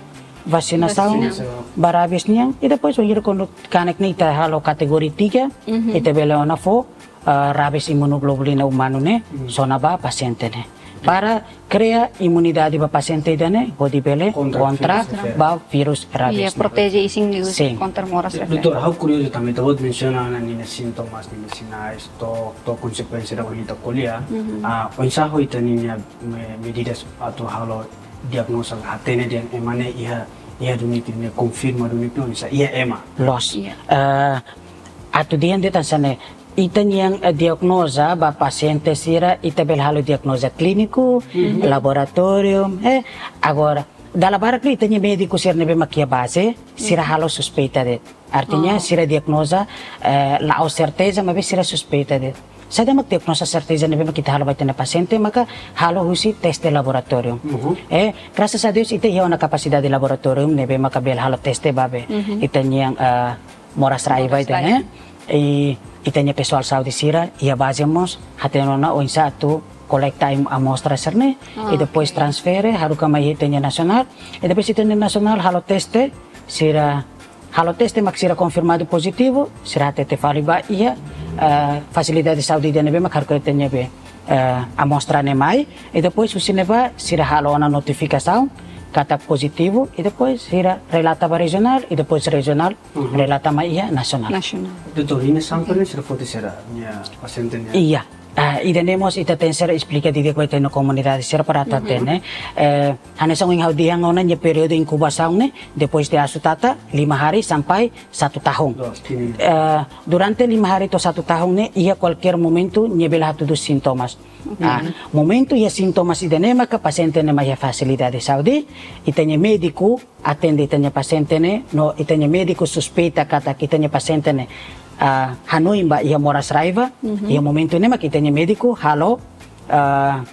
vasinasaun ba rabies nian, i depois wainhira kuandu kanek ne'e ita halo kategoria tiga, ita bele ona fó, eh, rabies imunoglobulina umanu ne'e sona ba pasiente ne'e. Para kria imunidade ba pasiente ida-ne'e, hodi bele kontra ba vírus rabies ne'e. Iya, proteje isin liu kontra moras raiva. Doutór, ha'u kuriozu tanba ita-boot mensiona ninia sintomas, ninia sinais, to'o, to'o konsekuénsia ida ohin ita ko'alia. Ah, oinsá ho ita ninia me-, medidas atu halo diagnoza, hatene dehan ema ne'e iha, iha duni ita ne'e konfirma duni ita oinsá iha ema. Loos. Iya. Eh, atu dehan de'it hanesan ne'e, ita-nia, eh, diagnoza ba pasiente sira, ita bele halo diagnoza klíniku, laboratóriu, eh, agora, dala barak liu ita-nia médiku sira ne'ebé mak iha baze, sira halo suspeita de'it. Artinya, sira diagnoza, eh, la'ós serteza, maibé sira suspeita de'it. Saida mak diagnoza serteza ne'ebé mak ita halo ba ita-nia pasiente, maka halo husi teste laboratóriu. Eh, grasas a Deus, ita iha ona kapasidade laboratóriu ne'ebé maka bele halo teste ba be ita-nia, eh, moras raiva ida-ne'e. I ita-nia pesoál saúde sira iha baze mós hatene ona oinsá atu kolekta am-, amostra sira-ne'e, i depois transfere, haruka mai ita-nia nasionál, i depois ita-nia nasionál halo teste, sira halo teste mak sira konfirmadu pozitivu, sira hatete fali ba iha, eh, fasilidade saúde ida ne'ebé mak haruka ita-nia be, eh, amostra ne'e mai, i depois husi ne'ebá sira halo ona notifikasaun katak pozitivu, i depois sira relata ba rejionál, i depois rejionál relata mai iha nasionál. Nasionál. Doutór, ninia sampel ne'e sira foti sira, nia pasiente nian? Iya. Ah, ida-ne'e mós ita tenke esplika didi'ak ba ita-nia komunidade sira para atu hatene. Eh, hanesan ohin ha'u dehan ona nia períodu inkubasaun ne'e, depois de asu tata, lima hari sampai satu tahun. Loos, tini. Eh, durante lima hari to'o satu tahun ne'e, iha kualkér momentu nia bele hatudu sintomas. Oke. Ah, momentu iha sintomas ida-ne'e maka pasiente ne'e mai iha fasilidade saúde, ita-nia médiku atende ita-nia pasiente ne'e, no ita-nia médiku suspeita katak ita-nia pasiente ne'e, ah, hanoin ba iha moras raiva, iha momentu ne'e mak ita-nia médiku halo, ah,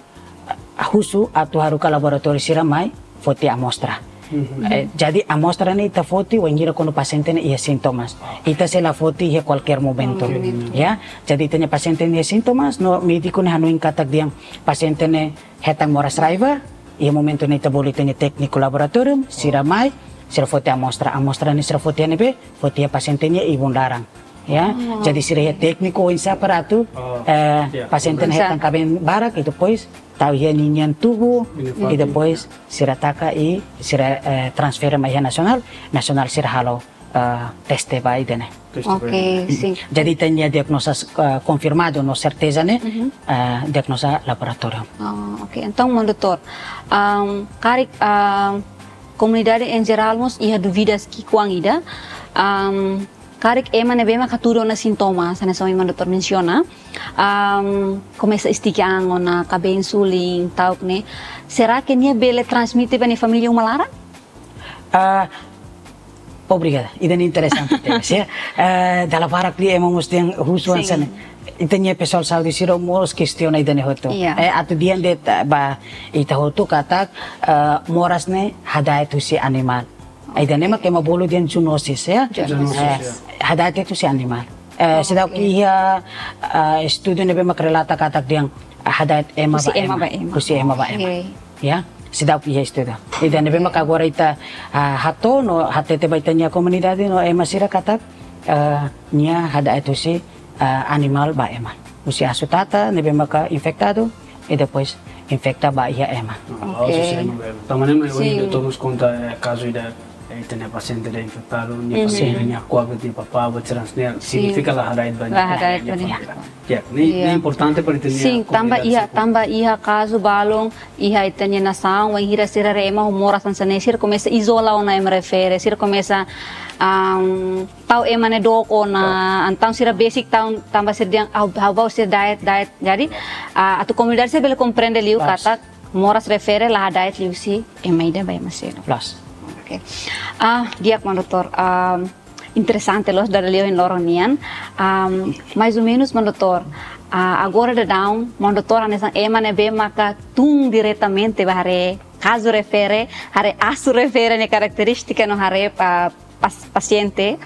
husu atu haruka laboratóriu sira mai foti amostra. Eh, jadi amostra ne'e ita foti wainhira kuandu pasiente ne'e iha sintomas. Ita sei la foti iha kualkér momentu. Kualkér momentu. Ya, jadi ita-nia pasiente ne'e iha sintomas, no médiku ne'e hanoin katak dehan pasiente ne'e hetan moras raiva, iha momentu ne'e ita bolu ita-nia tékniku laboratóriu, sira mai, sira foti amostra, amostra ne'e sira foti iha ne'ebé, foti iha pasiente nia ibun laran. Ya, jadi sira iha tékniku oinsá para atu, eh, pasiente ne'e hetan kaben barak, i depois tau iha ninia tubuh, i depois sira taka i sira, eh, transfere mai iha nasionál, nasionál sira halo, eh, teste ba ida-ne'e. Teste ba ida-ne'e. Oke, sin. Jadi ita-nia diagnoza, eh, konfirmadu no serteza ne'e, eh, diagnoza laboratóriu. Oh, oke. Entaun, maun doutór, am, karik, am, komunidade em geral mós iha dúvidas ki'ikoan ida, am, karik ema ne'ebé mak hatudu ona sintomas, hanesan ohin maun doutór mensiona, am, komesa istikan ona, kaben sulin, ta'uk ne'e. Será que nia bele transmite ba nia família uma laran? Ah, obrigada. Ida-ne'e interesante tebes, ya. Eh, dala barak liu ema mós dehan husu hanesan ne'e. Ita-nia pesoál saúde sira mós kestiona ida-ne'e hotu. Iya. Eh, atu dehan de'it, eh, ba ita hotu katak, eh, moras ne'e hada'et husi animál. Ida-ne'e mak ema bolu dehan zoonosis, ya. Zoonosis, ya. Hada'et husi animál. Eh, seidauk iha, eh, estudu ne'ebé mak relata katak dehan hada'et ema ba ema. Husi ema ba ema. Husi ema ba ema. Oke. Ya, seidauk iha estudu. Ida ne'ebé mak agora ita, ah, hato'o no hatete ba ita-nia komunidade no ema sira katak, eh, nia hada'et husi, eh, animál ba ema. Husi asu tata ne'ebé maka infektadu, i depois infekta ba iha ema. Ah, oke. Husi ema ba ema. Tanba ne'e mak ohin doutór mós konta, eh, kazu ida Ita-nia pasiente ida infektadu, nia família, nia kuak, nia papá, buat sira-ne'e, signifika la hada'et ba nia, la hada'et ba nia família. Ya, ne'e, ne'e importante para ita-nia komunidade. Sin, tanba iha, tanba iha kazu balun iha ita-nia nasaun, wainhira sira haree ema ho moras hanesan ne'e, sira komesa izola ona ema refere, sira komesa, am, tau ema ne'e dook ona, entaun sira besik tau, tanba sira dehan, ha'u, ha'u bá husi da'et, da'et. Jadi, ah, atu komunidade sira bele komprende liu katak moras refere la hada'et liuhusi ema ida ba ema seluk. Loos. Oke. Ah, di'ak, Maun Doutór. Am, interesante loos dada liu ohin loron nian. Am, mais ou menus, Maun Doutór, ah, agora daudaun, Maun Doutór hanesan ema ne'ebé maka tun diretamente ba haree kazu refere, haree asu refere nia karakterístika no haree, ah, pas-, pasiente.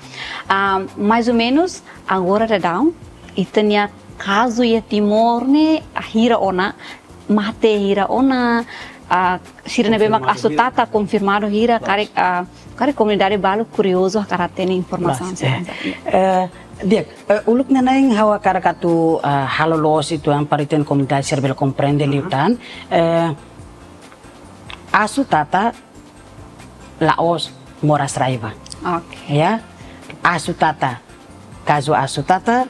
Ah, mais ou menus, agora daudaun, ita-nia kazu iha Timor ne'e hira ona, mate hira ona, ah, sira ne'ebé mak asu tata konfirmadu hira, karik, ah, karik komunidade balu kuriozu hakarak hatene informasaun sira. Eh, di'ak, eh, uluk nanain ha'u hakarak atu, ah, halo loos uitoan para ita-nia komunidade sira bele komprende liután. Eh, asu tata la'ós moras raiva. Oke. Ya, asu tata. Kazu asu tata,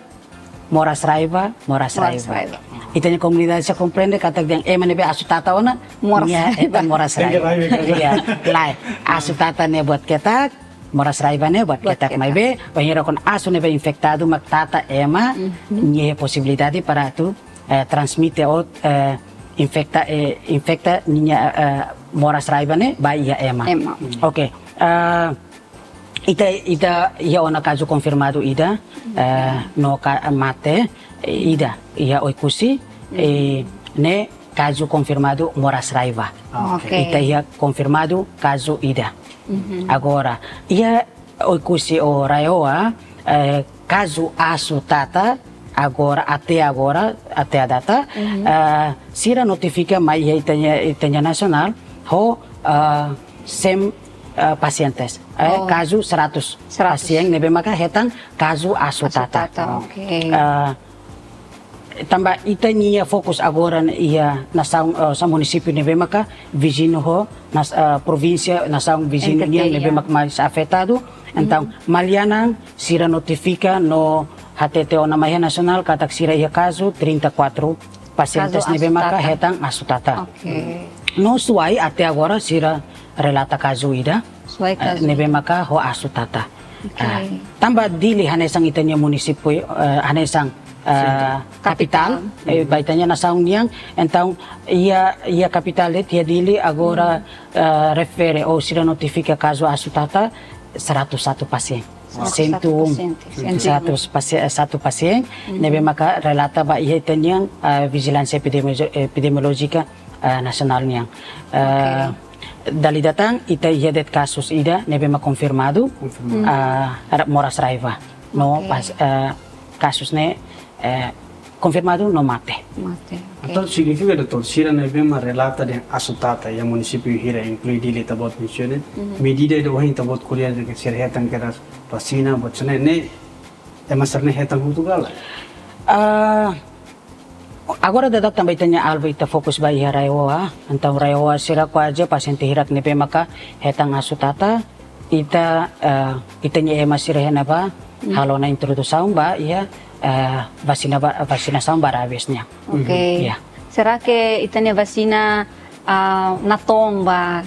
moras raiva, moras raiva. Ita-nia komunidade sira komprende katak dehan ema ne'ebé asu tata ona, moras raiva. Hetan moras raiva. Ya, lae. Asu tata ne'e buat ketak, moras raiva ne'e buat ketak, maibé wainhira kuandu asu ne'ebé infektadu mak tata ema, nia iha posibilidade para atu, eh, transmite ou, eh, infekta, eh, infekta ninia, eh, moras raiva ne'e ba iha ema. Ema. Oke. Eh, ita, ita iha ona kazu konfirmadu ida, eh, no ka-, mate, eh, ida iha Oekusi, eh, ne'e kazu konfirmadu moras raiva. Ah, oke. Ita iha konfirmadu kazu ida. Agora, iha Oekusi ho RAEOA, eh, kazu asu tata, agora, até agora, até a data, eh, sira notifika mai iha ita-nia, ita-nia nasionál, ho, eh, cem, eh, pasientes, eh, kazu seratus pasiente ne'ebé maka hetan kazu asu tata. Asu tata, oke. Eh, tanba ita-nia fokus agora iha nasaun, eh, sa munisípiu ne'ebé maka viziñu ho nas-, eh, provínsia, nasaun viziñu nian ne'ebé maka mais afetadu. Entaun, Maliana sira notifika no hatete ona mai iha nasionál katak sira iha kazu trinta e quatro pasientes ne'ebé maka hetan asu tata. Oke. No Suai até agora sira relata kazu ida, eh, ne'ebé maka ho asu tata. Oke. Ah, tanba Dili hanesan ita-nia munisípiu, eh, hanesan, eh, kapitál, eh, ba ita-nia nasaun nian, entaun iha, iha kapitál de'it iha Dili agora, eh, refere ou sira notifika kazu asu tata seratus satu pasiente. Seratus satu pasiente. Seratus pasi-, eh, satu pasiente, ne'ebé maka relata ba iha ita-nia, eh, vijilánsia epidemiolo-, epidemiolójika, eh, nasionál nian. Eh, dala ida tan, ita iha de'it kazus ida ne'ebé mak konfirmadu, ah, ra-, moras raiva. No pas, eh, kazus ne'e, eh, konfirmadu no mate. Mate, oke. Entaun signifika, doutór, sira ne'ebé mak relata dehan asu tata iha munisípiu hira, inklui Dili, ita-boot mensiona, medida ida ohin ita-boot ko'alia dehan sira hetan kedas vasina, buat sira-ne'e, ema sira-ne'e hetan hotu ka lae? Ah, agora daudaun tanba ita-nia alvu ita fokus ba iha RAEOA, entaun RAEOA sira kuaze pasiente hirak ne'ebé maka hetan asu tata, ita, eh, ita-nia ema sira iha ne'ebá halo ona introdusaun ba iha, eh, vasina ba, vasinasaun ba rabies nian. Oke. Ya. Será que ita-nia vasina, ah, natoon ba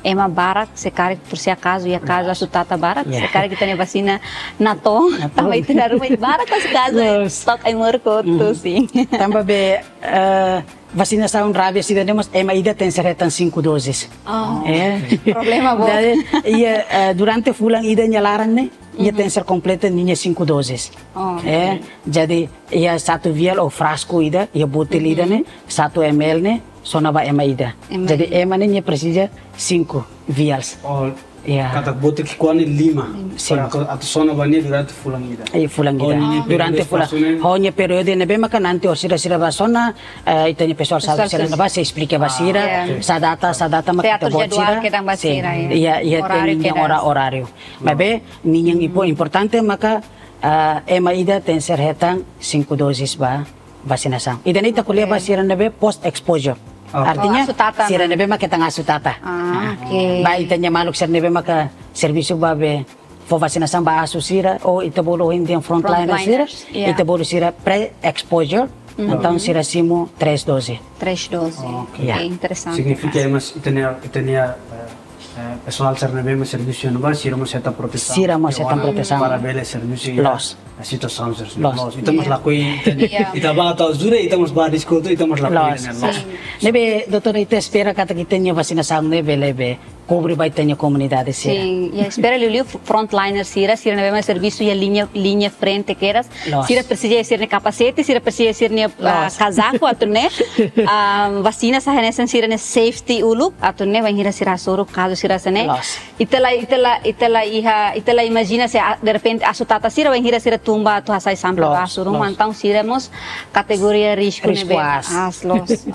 ema barak, se karik por si acaso iha kazu asu tata barak, se karik ita-nia vasina natoon, tanba ita-nia ruma barak kazu, kazu, stok ai morko tu, sin. Tanba be, eh, vasinasaun rabies ida-ne'e mós ema ida tenke hetan cinco doses. Oh. Eh. Problema boot. Jadi, iha, eh, durante fulan ida nia laran ne'e, nia tenke kompleta ninia cinco doses. Oh. Eh, jadi iha satu vial ou frasku ida, iha botil ida ne'e, satu M L ne'e, sona ba ema ida. Ema ida. Jadi ema ne'e nia presiza cinco vials. Oh, ya. Katak botil ki'ikoan ne'e lima. Sin. Para atu, atu sona ba nia durante fulan ida. Iya, fulan ida. Oh, nia durante fulan. Ho nia períodu ne'ebé maka nanti orsida sira bá sona, eh, ita-nia pesoál saúde sira ne'ebá sei esplika ba sira, sá data, sá data mak ita-boot sira. Sei atur jadwal kedan ba sira, ya. Iya, iya, oráriu kedan. Ora-, oráriu. Maibé, ninia impo-, importante maka, ah, ema ida tenke hetan cinco doses ba vasinasaun. Ida-ne'e ita ko'alia ba sira ne'ebé post exposure. Artinya, sira ne'ebé maka hetan asu tata. Ah, oke. Ba ita-nia maluk sira ne'ebé maka servisu ba be fó vasinasaun ba asu sira, ou ita bolu ohin dia frontliner sira, Frontliners, yeah. Ita bolu sira pre-exposure, Mhm. Entaun sira simu três dose. Três dose. Ok. Ya. Oke, interesante. Signifika, mas, ita-nia, ita-nia, eh, eh, pesoál sira ne'ebé mak servisu iha ne'ebá, sira mós hetan protesaun. Sira mós hetan protesaun. Para bele servisu iha, loos, situasaun sira. Loos. Loos. Ita mós, ya, lakohi, ita, ya, ita bá atu ajuda, ita mós bá diskuti, ita mós lakohi, loos, ne'e, loos. Sin. Ne'ebé, doutora, ita espera katak ita-nia vasinasaun ne'e bele be kubre ba ita-nia komunidade sira. Sin, ya, espera liuliu frontliner sira, sira ne'ebé mak servisu iha liña, liña frente kedas. Loos. Sira presiza sira-nia kapasete, sira presiza sira-nia, ah, loos, kazaku atu nune'e. Ah, vasina sai hanesan sira-nia safety uluk atu nune'e, bainhira sira hasoru kazu sira hanesan ne'e. Loos. Ita la, ita la, ita la iha, ita la imajina se, ah, derrepente asu tata sira, bainhira sira tun ba atu hasai sampel, loos, ba asu ruma, loos, entaun sira mós kategoria risku, risku ne'ebé aas. Aas, loos.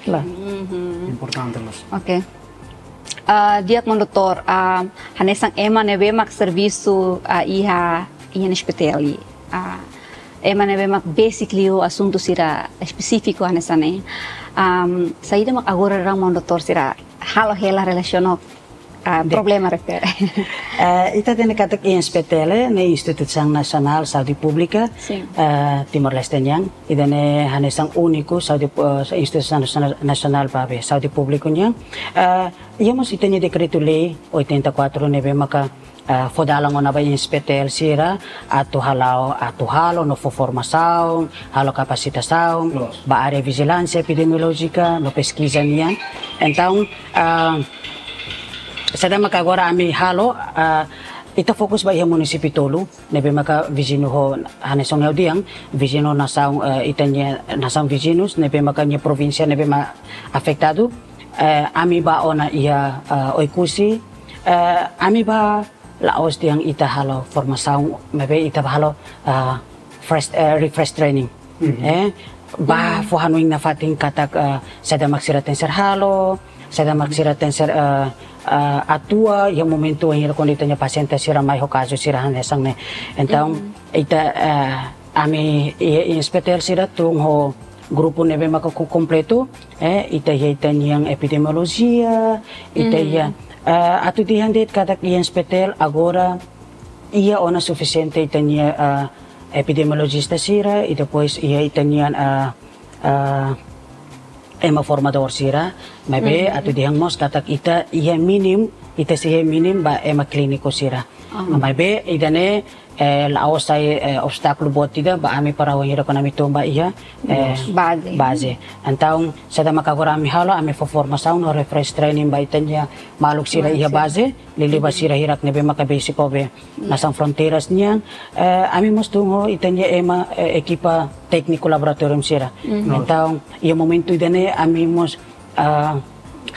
Loos. Mhm. Importante, loos. Oke. Ah, di'ak maun doutór, ah, hanesan ema ne'ebé mak servisu, ah, iha, iha S P T L. Ah, ema ne'ebé mak besik liu asuntu sira espesífiku hanesan ne'e. Am, saida mak agora daudaun maun doutór sira halo hela relasiona, ah, problema refere? Eh, ita hatene katak S P T L ne'e Instituisaun Nasionál Saúde Públika, sin, eh, Timor-Leste nian. Ida-ne'e hanesan úniku saúde, eh, instituisaun nasionál, nasionál ba be saúde públiku nian. Eh, iha mós ita-nia dekretu-lei oitenta e quatro ne'ebé maka, eh, fó dalan ona ba S P T L sira atu hala'o, atu halo no fó formasaun, halo kapasitasaun, loos, ba área vijilánsia epidemiolójika no peskiza nian. Entaun, eh, saida maka agora ami halo, eh, ita fokus ba iha munisípiu tolu, ne'ebé maka viziñu ho, hanesan ha'u dehan, viziñu nasaun, eh, ita-nia nasaun viziñus, ne'ebé maka nia provínsia ne'ebé mak afetadu, eh, ami bá ona iha, eh, Oekusi, eh, ami bá la'ós dehan ita halo formasaun, maibé ita bá halo, eh, fresh, eh, refresh training. Mhm. Eh, bá, mhm, fó hanoin nafatin katak, eh, saida mak sira tenke ser halo, saida mak sira tenke ser, eh, eh, atua iha momentu wainhira kuandu ita-nia pasiente sira mai ho kazu sira hanesan ne'e. Entaun, mhm, ita, eh, ami iha S P T L sira tun ho grupu ne'ebé maka ku-, kompletu, eh, ita iha ita-nian epidemiolojia, ita, mhm, iha, eh, atu dehan de'it katak S P T L agora iha ona sufisiente ita-nia, eh, epidemiolojista sira, i depois iha ita-nian, eh, eh, ema formadór sira, maibé, mhm, atu dehan mós katak ita iha mínimu, ita sei iha mínimu ba ema klíniku sira. Ah. Maibé ida-ne'e, eh, la'ós sai, eh, obstákulu boot ida ba ami para wainhira kuandu ami tun ba iha, eh, baze. Baze. Entaun, saida maka agora ami halo, ami fó formasaun no refresh training ba ita-nia maluk sira iha baze, liuliu ba sira hirak ne'ebé maka besik ho be nasaun fronteiras nian, eh, ami mós tun ho ita-nia ema, eh, ekipa tékniku laboratóriu sira. Mhm. Entaun, iha momentu ida-ne'e ami mós, ah,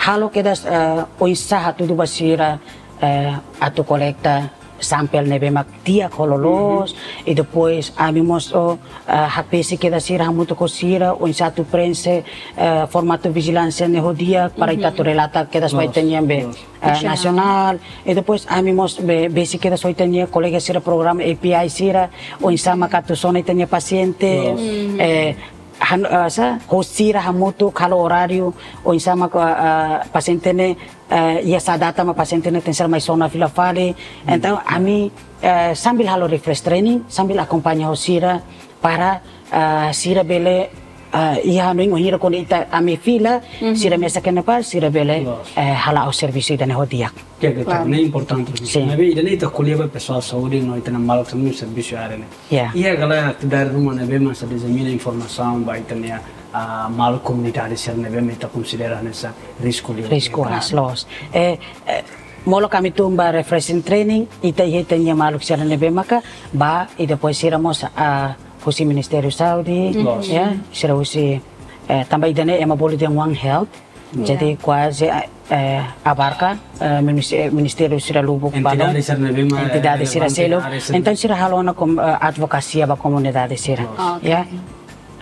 halo kedas, ah, oinsá hatudu ba sira, eh, atu kolekta sampel ne'ebé mak di'ak ho loloos, mhm, i depois ami mós, oh, ah, hakbesik kedas sira hamutuk ho sira, oinsá atu prenxe, eh, formatu vijilánsia ne'e ho di'ak, para, mhm, ita atu relata kedas ba, loos, ita-nian be, loos, eh, nasionál. Nasionál. I depois ami mós be, besik kedas ho ita-nia kolega sira programa A P I sira, oinsá maka atu sona ita-nia pasiente, loos, eh, han-, eh, sá, ho sira hamutuk halo oráriu, oinsá maka, eh, pasiente ne'e, eh, iha sá data mak pasiente ne'e tenke ser mai sona fila fali. Hmm. Entaun, ami, eh, sambil halo refresh training, sambil akompaña ho sira para, eh, sira bele, eh, iha hanoin wainhira kuandu ita ami fila, mhm, sira mesak iha ne'ebá, sira bele, loos, eh, hala'o servisu ida-ne'e ho di'ak. Ke, ke, klaru, ne'e importante. Sin. Maibé ida-ne'e ita ko'alia ba pesoál saúde no ita-nia maluk sira ne'ebé servisu iha área ne'e. Ya. Iha ka lae atividade ruma ne'ebé mak sei dizemina informasaun ba ita-nia, ah, maluk komunidade sira ne'ebé mak ita konsidera hanesan risku liu? Risku, klaru, aas, loos. Eh, eh, molok ami tun ba refreshing training, ita iha ita-nia maluk sira ne'ebé maka bá, i depois sira mós, ah, husi Ministériu Saúde, mhm, loos, ya, sira husi, eh, tanba ida-ne'e ema bolu dehan One Health, ya, jadi kuaze, eh, abarka, eh, minis-, eh, ministériu sira lubuk balun, entidade sira ne'ebé mak, entidade, eh, sira relevante seluk. Área sira. Entaun sira halo ona kom-, eh, advokasia ba komunidade sira. Loos. Oke. Ya.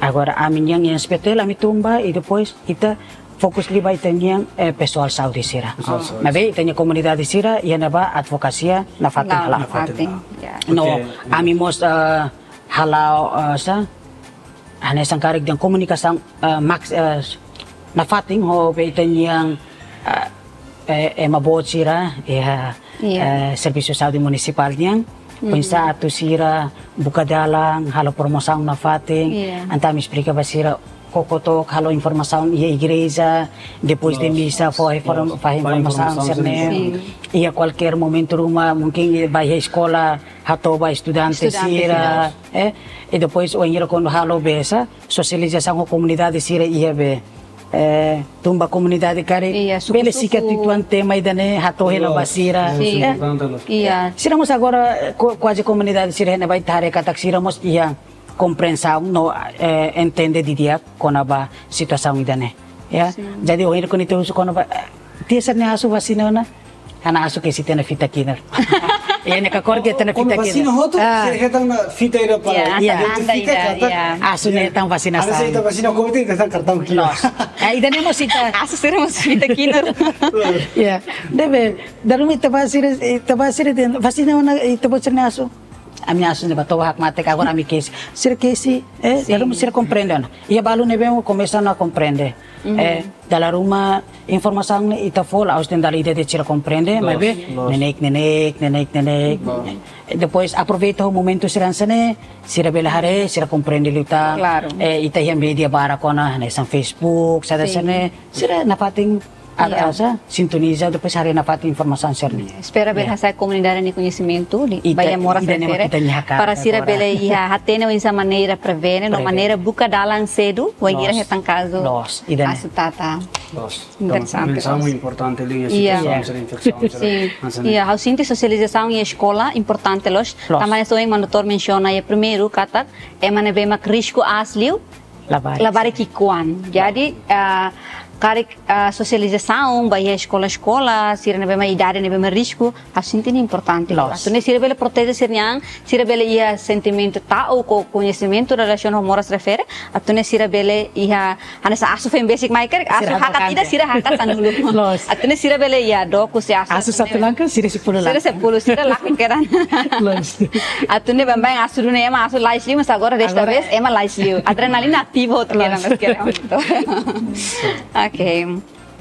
Agora ami-nian S P T L ami tun ba, i depois ita fokus liu ba ita-nian, eh, pesoál saúde sira. Pesoál saúde. Maibé ita-nia komunidade sira iha ne'ebá advokasia nafatin hala'o. Nafatin. Nafatin, ya. No, oke, ya, ami mós, eh, hala'o, eh, sá, hanesan karik dehan komunikasaun, eh, maks-, eh, nafatin ho be ita-nian, eh, eh, ema boot sira, ya, Iya. eh, servisu saúde munisipál nian. Oinsá atu sira buka dalan, halo promosaun nafatin, Iya. entaun ami esplika ba sira, koko took halo informasaun iha igreja, depois de Loos, misa, loos, fó inform-, loos. fó Fó informasaun, informasaun sira-ne'e. sira-ne'e. Sin. Iha kualkér momentu ruma, mungkin ba iha eskola, hato'o ba estudante Estudante sira, sira. eh, i depois wainhira kuandu halo besa, sosializasaun ho komunidade sira iha be, eh, tun ba komunidade karik, Iya, suku-suku. bele sikat uitoan tema ida-ne'e, hato'o hela ba Loos. sira. Sin. Eh, Importante, loos. Iya. sira mós agora, eh, ku-, kuaze komunidade sira ne'ebá ita haree katak sira mós iha komprensaun no, eh, entende didi'ak kona-ba situasaun ida-ne'e. Ya. Sin. Jadi, ohin koni te husu kona-ba, eh, tia sira-ne'e asu vasina ona, ha'u asu ke sira-nia fita kinar. Iha ne'e ka kór ke sira-nia Kona fita vasina kinar. hotu, Ah. sira hetan ona fita ida para Ya, Iya. identifika anda ida, katak ya. Asu ne'e hetan vasinasaun. Asu ne'e hetan vasina covid, hetan kartaun kinar. Loos. Eh, ida-ne'e mós ita. Asu sira mós fita kinar. Ya. Ne'ebé, dala ruma ita-boot sira, ita-boot sira dehan, vasina ona, ita-boot sira-nia asu. Ami asu ne'e ba toba hakmatek, agora ami kesi. Sira kesi, eh, Sin. dala ruma sira komprende ona. Iha balu ne'ebé komesa ona komprende. Mhm. Eh, dala ruma informasaun ne'e ita fó, la'ós dehan dala ida de'it sira komprende, Loos, maibé loos. neineik, neineik, neineik, neineik. Loos. Eh, depois aproveita ho momentu sira hanesan ne'e, sira bele haree, sira komprende liután. Klaru. Eh, ita iha média barak ona, hanesan Facebook, saida Sin. hanesan ne'e, sira nafatin Iya. asa, sintoniza, depois haree nafatin informasaun sira-ne'e. Espera bele Iya. hasa'e komunidade nia koñesimentu, Ita, ba iha moras ita ne'e refere, ita-nia hakarak para sira agora. bele iha hatene oinsá maneira prevene, no Prevene. maneira buka dalan sedu, wainhira Loos. hetan kazu Loos, ida-ne'e. asu tata. Loos. Interesante, Mensaun loos. importante liu iha Iya. situasaun Iya. sira, infesaun sira. Sin. Hanesan ne'e. Iya, ha'u sente sosializasaun iha eskola importante loos. Loos. Tanba hanesan ohin Manu Doutór mensiona iha primeiru katak, ema ne'ebé mak risku aas liu, Labarik. labarik ki'ikoan. Jadi, ah, karik, ah, sosializasaun ba iha eskola-eskola, sira ne'ebé mak idade ne'ebé mak risku, ha'u sente ne'e importante. Loos. Atu nune'e sira bele proteje sira-nia an, sira bele iha sentimentu ta'uk ou koñesimentu relasiona ho moras refere, atu nune'e sira bele iha, hanesan asu foin besik mai karik, asu Sira hakat hakat ida, ida. sira hakat sanulu. Loos. Atu nune'e sira bele iha dook husi asu, Asu atu satu nune'e langkah, sira sepuluh sira langkah. sepuluh, sira laku kedan. Loos. Atu nune'e baibain asu duni ema asu lais liu, mas agora desta Agora vez ema lais liu. Adrenalina ativu hotu Loos. kedan, mas kedan hotu. Oke.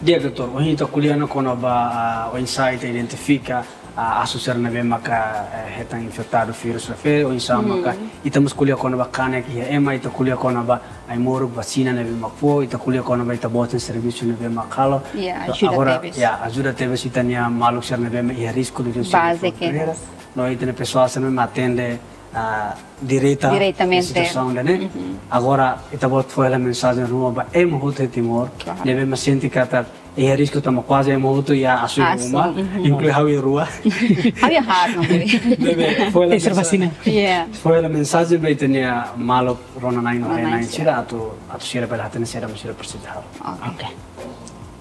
Di'ak, Doutór, ohin ita ko'alia ona kona-ba, ah, oinsá ita identifika, ah, asu sira ne'ebé maka, eh, hetan infetadu vírus refere, oinsá Hmm. maka ita mós ko'alia kona-ba kanek iha ema, ita ko'alia kona-ba ai-moruk vasina ne'ebé mak fó, ita ko'alia kona-ba ita-boot nia servisu ne'ebé mak halo. Ya, So, ajuda agora, tebes. ya, ajuda tebes ita-nia maluk sira ne'ebé mak iha risku liuliu sira Base iha ke. fronteira. No ita-nia pesoál sira ne'ebé mak atende, ah, direta Diretamente. iha situasaun ida-ne'e. Mhm. Agora, ita-boot fó hela mensajen ruma ba ema hotu iha Timor, Klaru. ne'ebé mak sente katak iha risku tanba kuaze ema hotu iha asu iha Asu, uma, mhm. inklui ha'u iha rua. Ha'u iha haat, no, boy. Ne'ebé, fó hela Ese mensajen. vasina. Iya. Fó hela mensajen ba ita-nia maluk rona-na'in no Rona-na'in haree-na'in sira. sira atu, atu sira bele hatene saida mak sira presiza halo. Oke. Oke.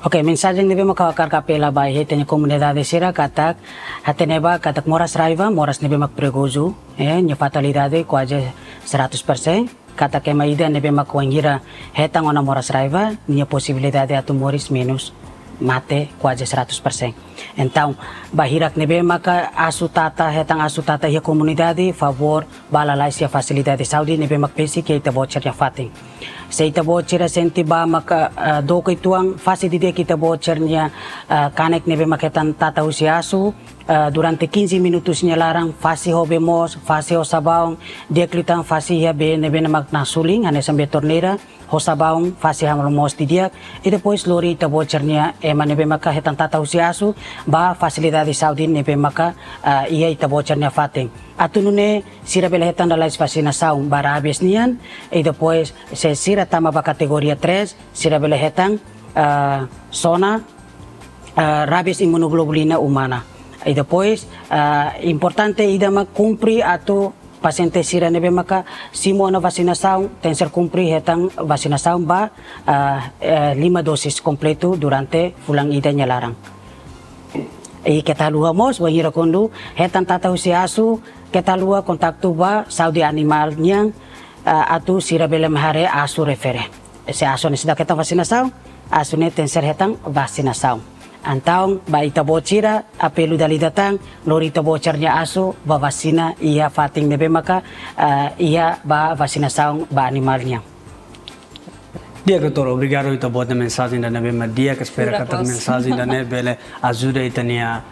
Oke, mensajen ne'ebé mak ha'u hakarak apela ba iha ita-nia komunidade sira katak, hatene ba katak moras raiva, moras ne'ebé mak perigozu, eh, nia fatalidade kuaze seratus persen, katak ema ida ne'ebé mak wainhira hetan ona moras raiva, nia posibilidade atu moris menus, mate kuaze seratus persen. Entaun, ba hirak ne'ebé maka asu tata, hetan asu tata iha komunidade, favór, bá lalais iha fasilidade saúde ne'ebé mak besik iha ita-boot sira-nia fatin. Se ita-boot sira sente ba maka, eh, dook uitoan, fase didi'ak ita-boot sira-nia, eh, kanek ne'ebé mak hetan tata husi asu, eh, durante quinze minutos nia laran, fase ho bee moos, fase ho sabaun, di'ak liután fase iha bee ne'ebé mak nasulin, hanesan bee torneira, ho sabaun, fase halo moos didi'ak, i depois lori ita-boot sira-nia ema ne'ebé maka hetan tata husi asu, ba fasilidade saúde ne'ebé maka, eh, iha ita-boot sira-nia fatin. Atu nune'e sira bele hetan lalais vasinasaun ba rabies nian, i depois se sira tama ba kategoria três, sira bele hetan, eh, SONA, eh, rabies imunoglobulina umana. I depois, eh, importante ida mak kumpre atu pasiente sira ne'ebé maka simu ona vasinasaun, tenkesér kumpre hetan vasinasaun ba, eh, eh, lima dosis kompletu durante fulan ida nia laran. I keta haluha mós, wainhira kuandu hetan tata husi asu, keta haluha kontaktu ba saúde animál nian, eh, atu sira bele mak haree asu refere. Se asu ne'e seidauk hetan vasinasaun, asu ne'e tenkesér hetan vasinasaun. Entaun, ba ita-boot sira, apelu dala ida tan, lori ita-boot sira-nia asu, bá vasina, iha fatin ne'ebé maka, eh, iha ba vasinasaun ba animál nian. Di'ak, doutór, obrigadu ita-boot nia mensajen ida ne'ebé mak di'ak, espera katak mensajen ida-ne'e bele ajuda ita-nia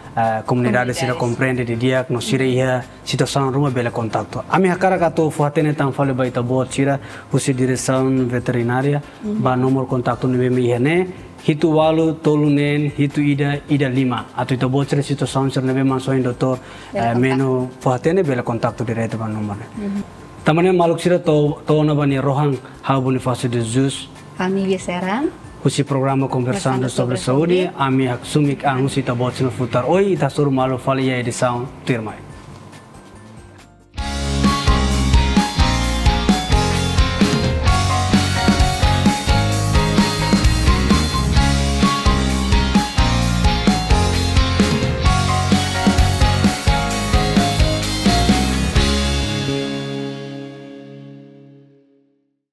komunidade sira komprende didi'ak no sira iha situasaun ruma bele kontaktu. Ami hakarak atu fó-hatene tan fali ba ita-boot sira husi diresaun veterinária ba númeru kontaktu ne'ebé mak iha ne'e, hitu ualu tolu neen hitu ida ida lima. Atu ita-boot sira situasaun sira ne'ebé mak hanesan ohin doutór Meno fó-hatene bele kontaktu diretu ba númeru ne'e. Tanba ne'e maluk sira, to'o ona ba nia rohan, ha'u Bonifácio de Jesus. Ami Bia Serang. Husi programa Conversando sobre Saúde, ami haksoit an husi ita-boot sira-nia futar. Ohin ita hasoru malu fali iha edisaun tuirmai.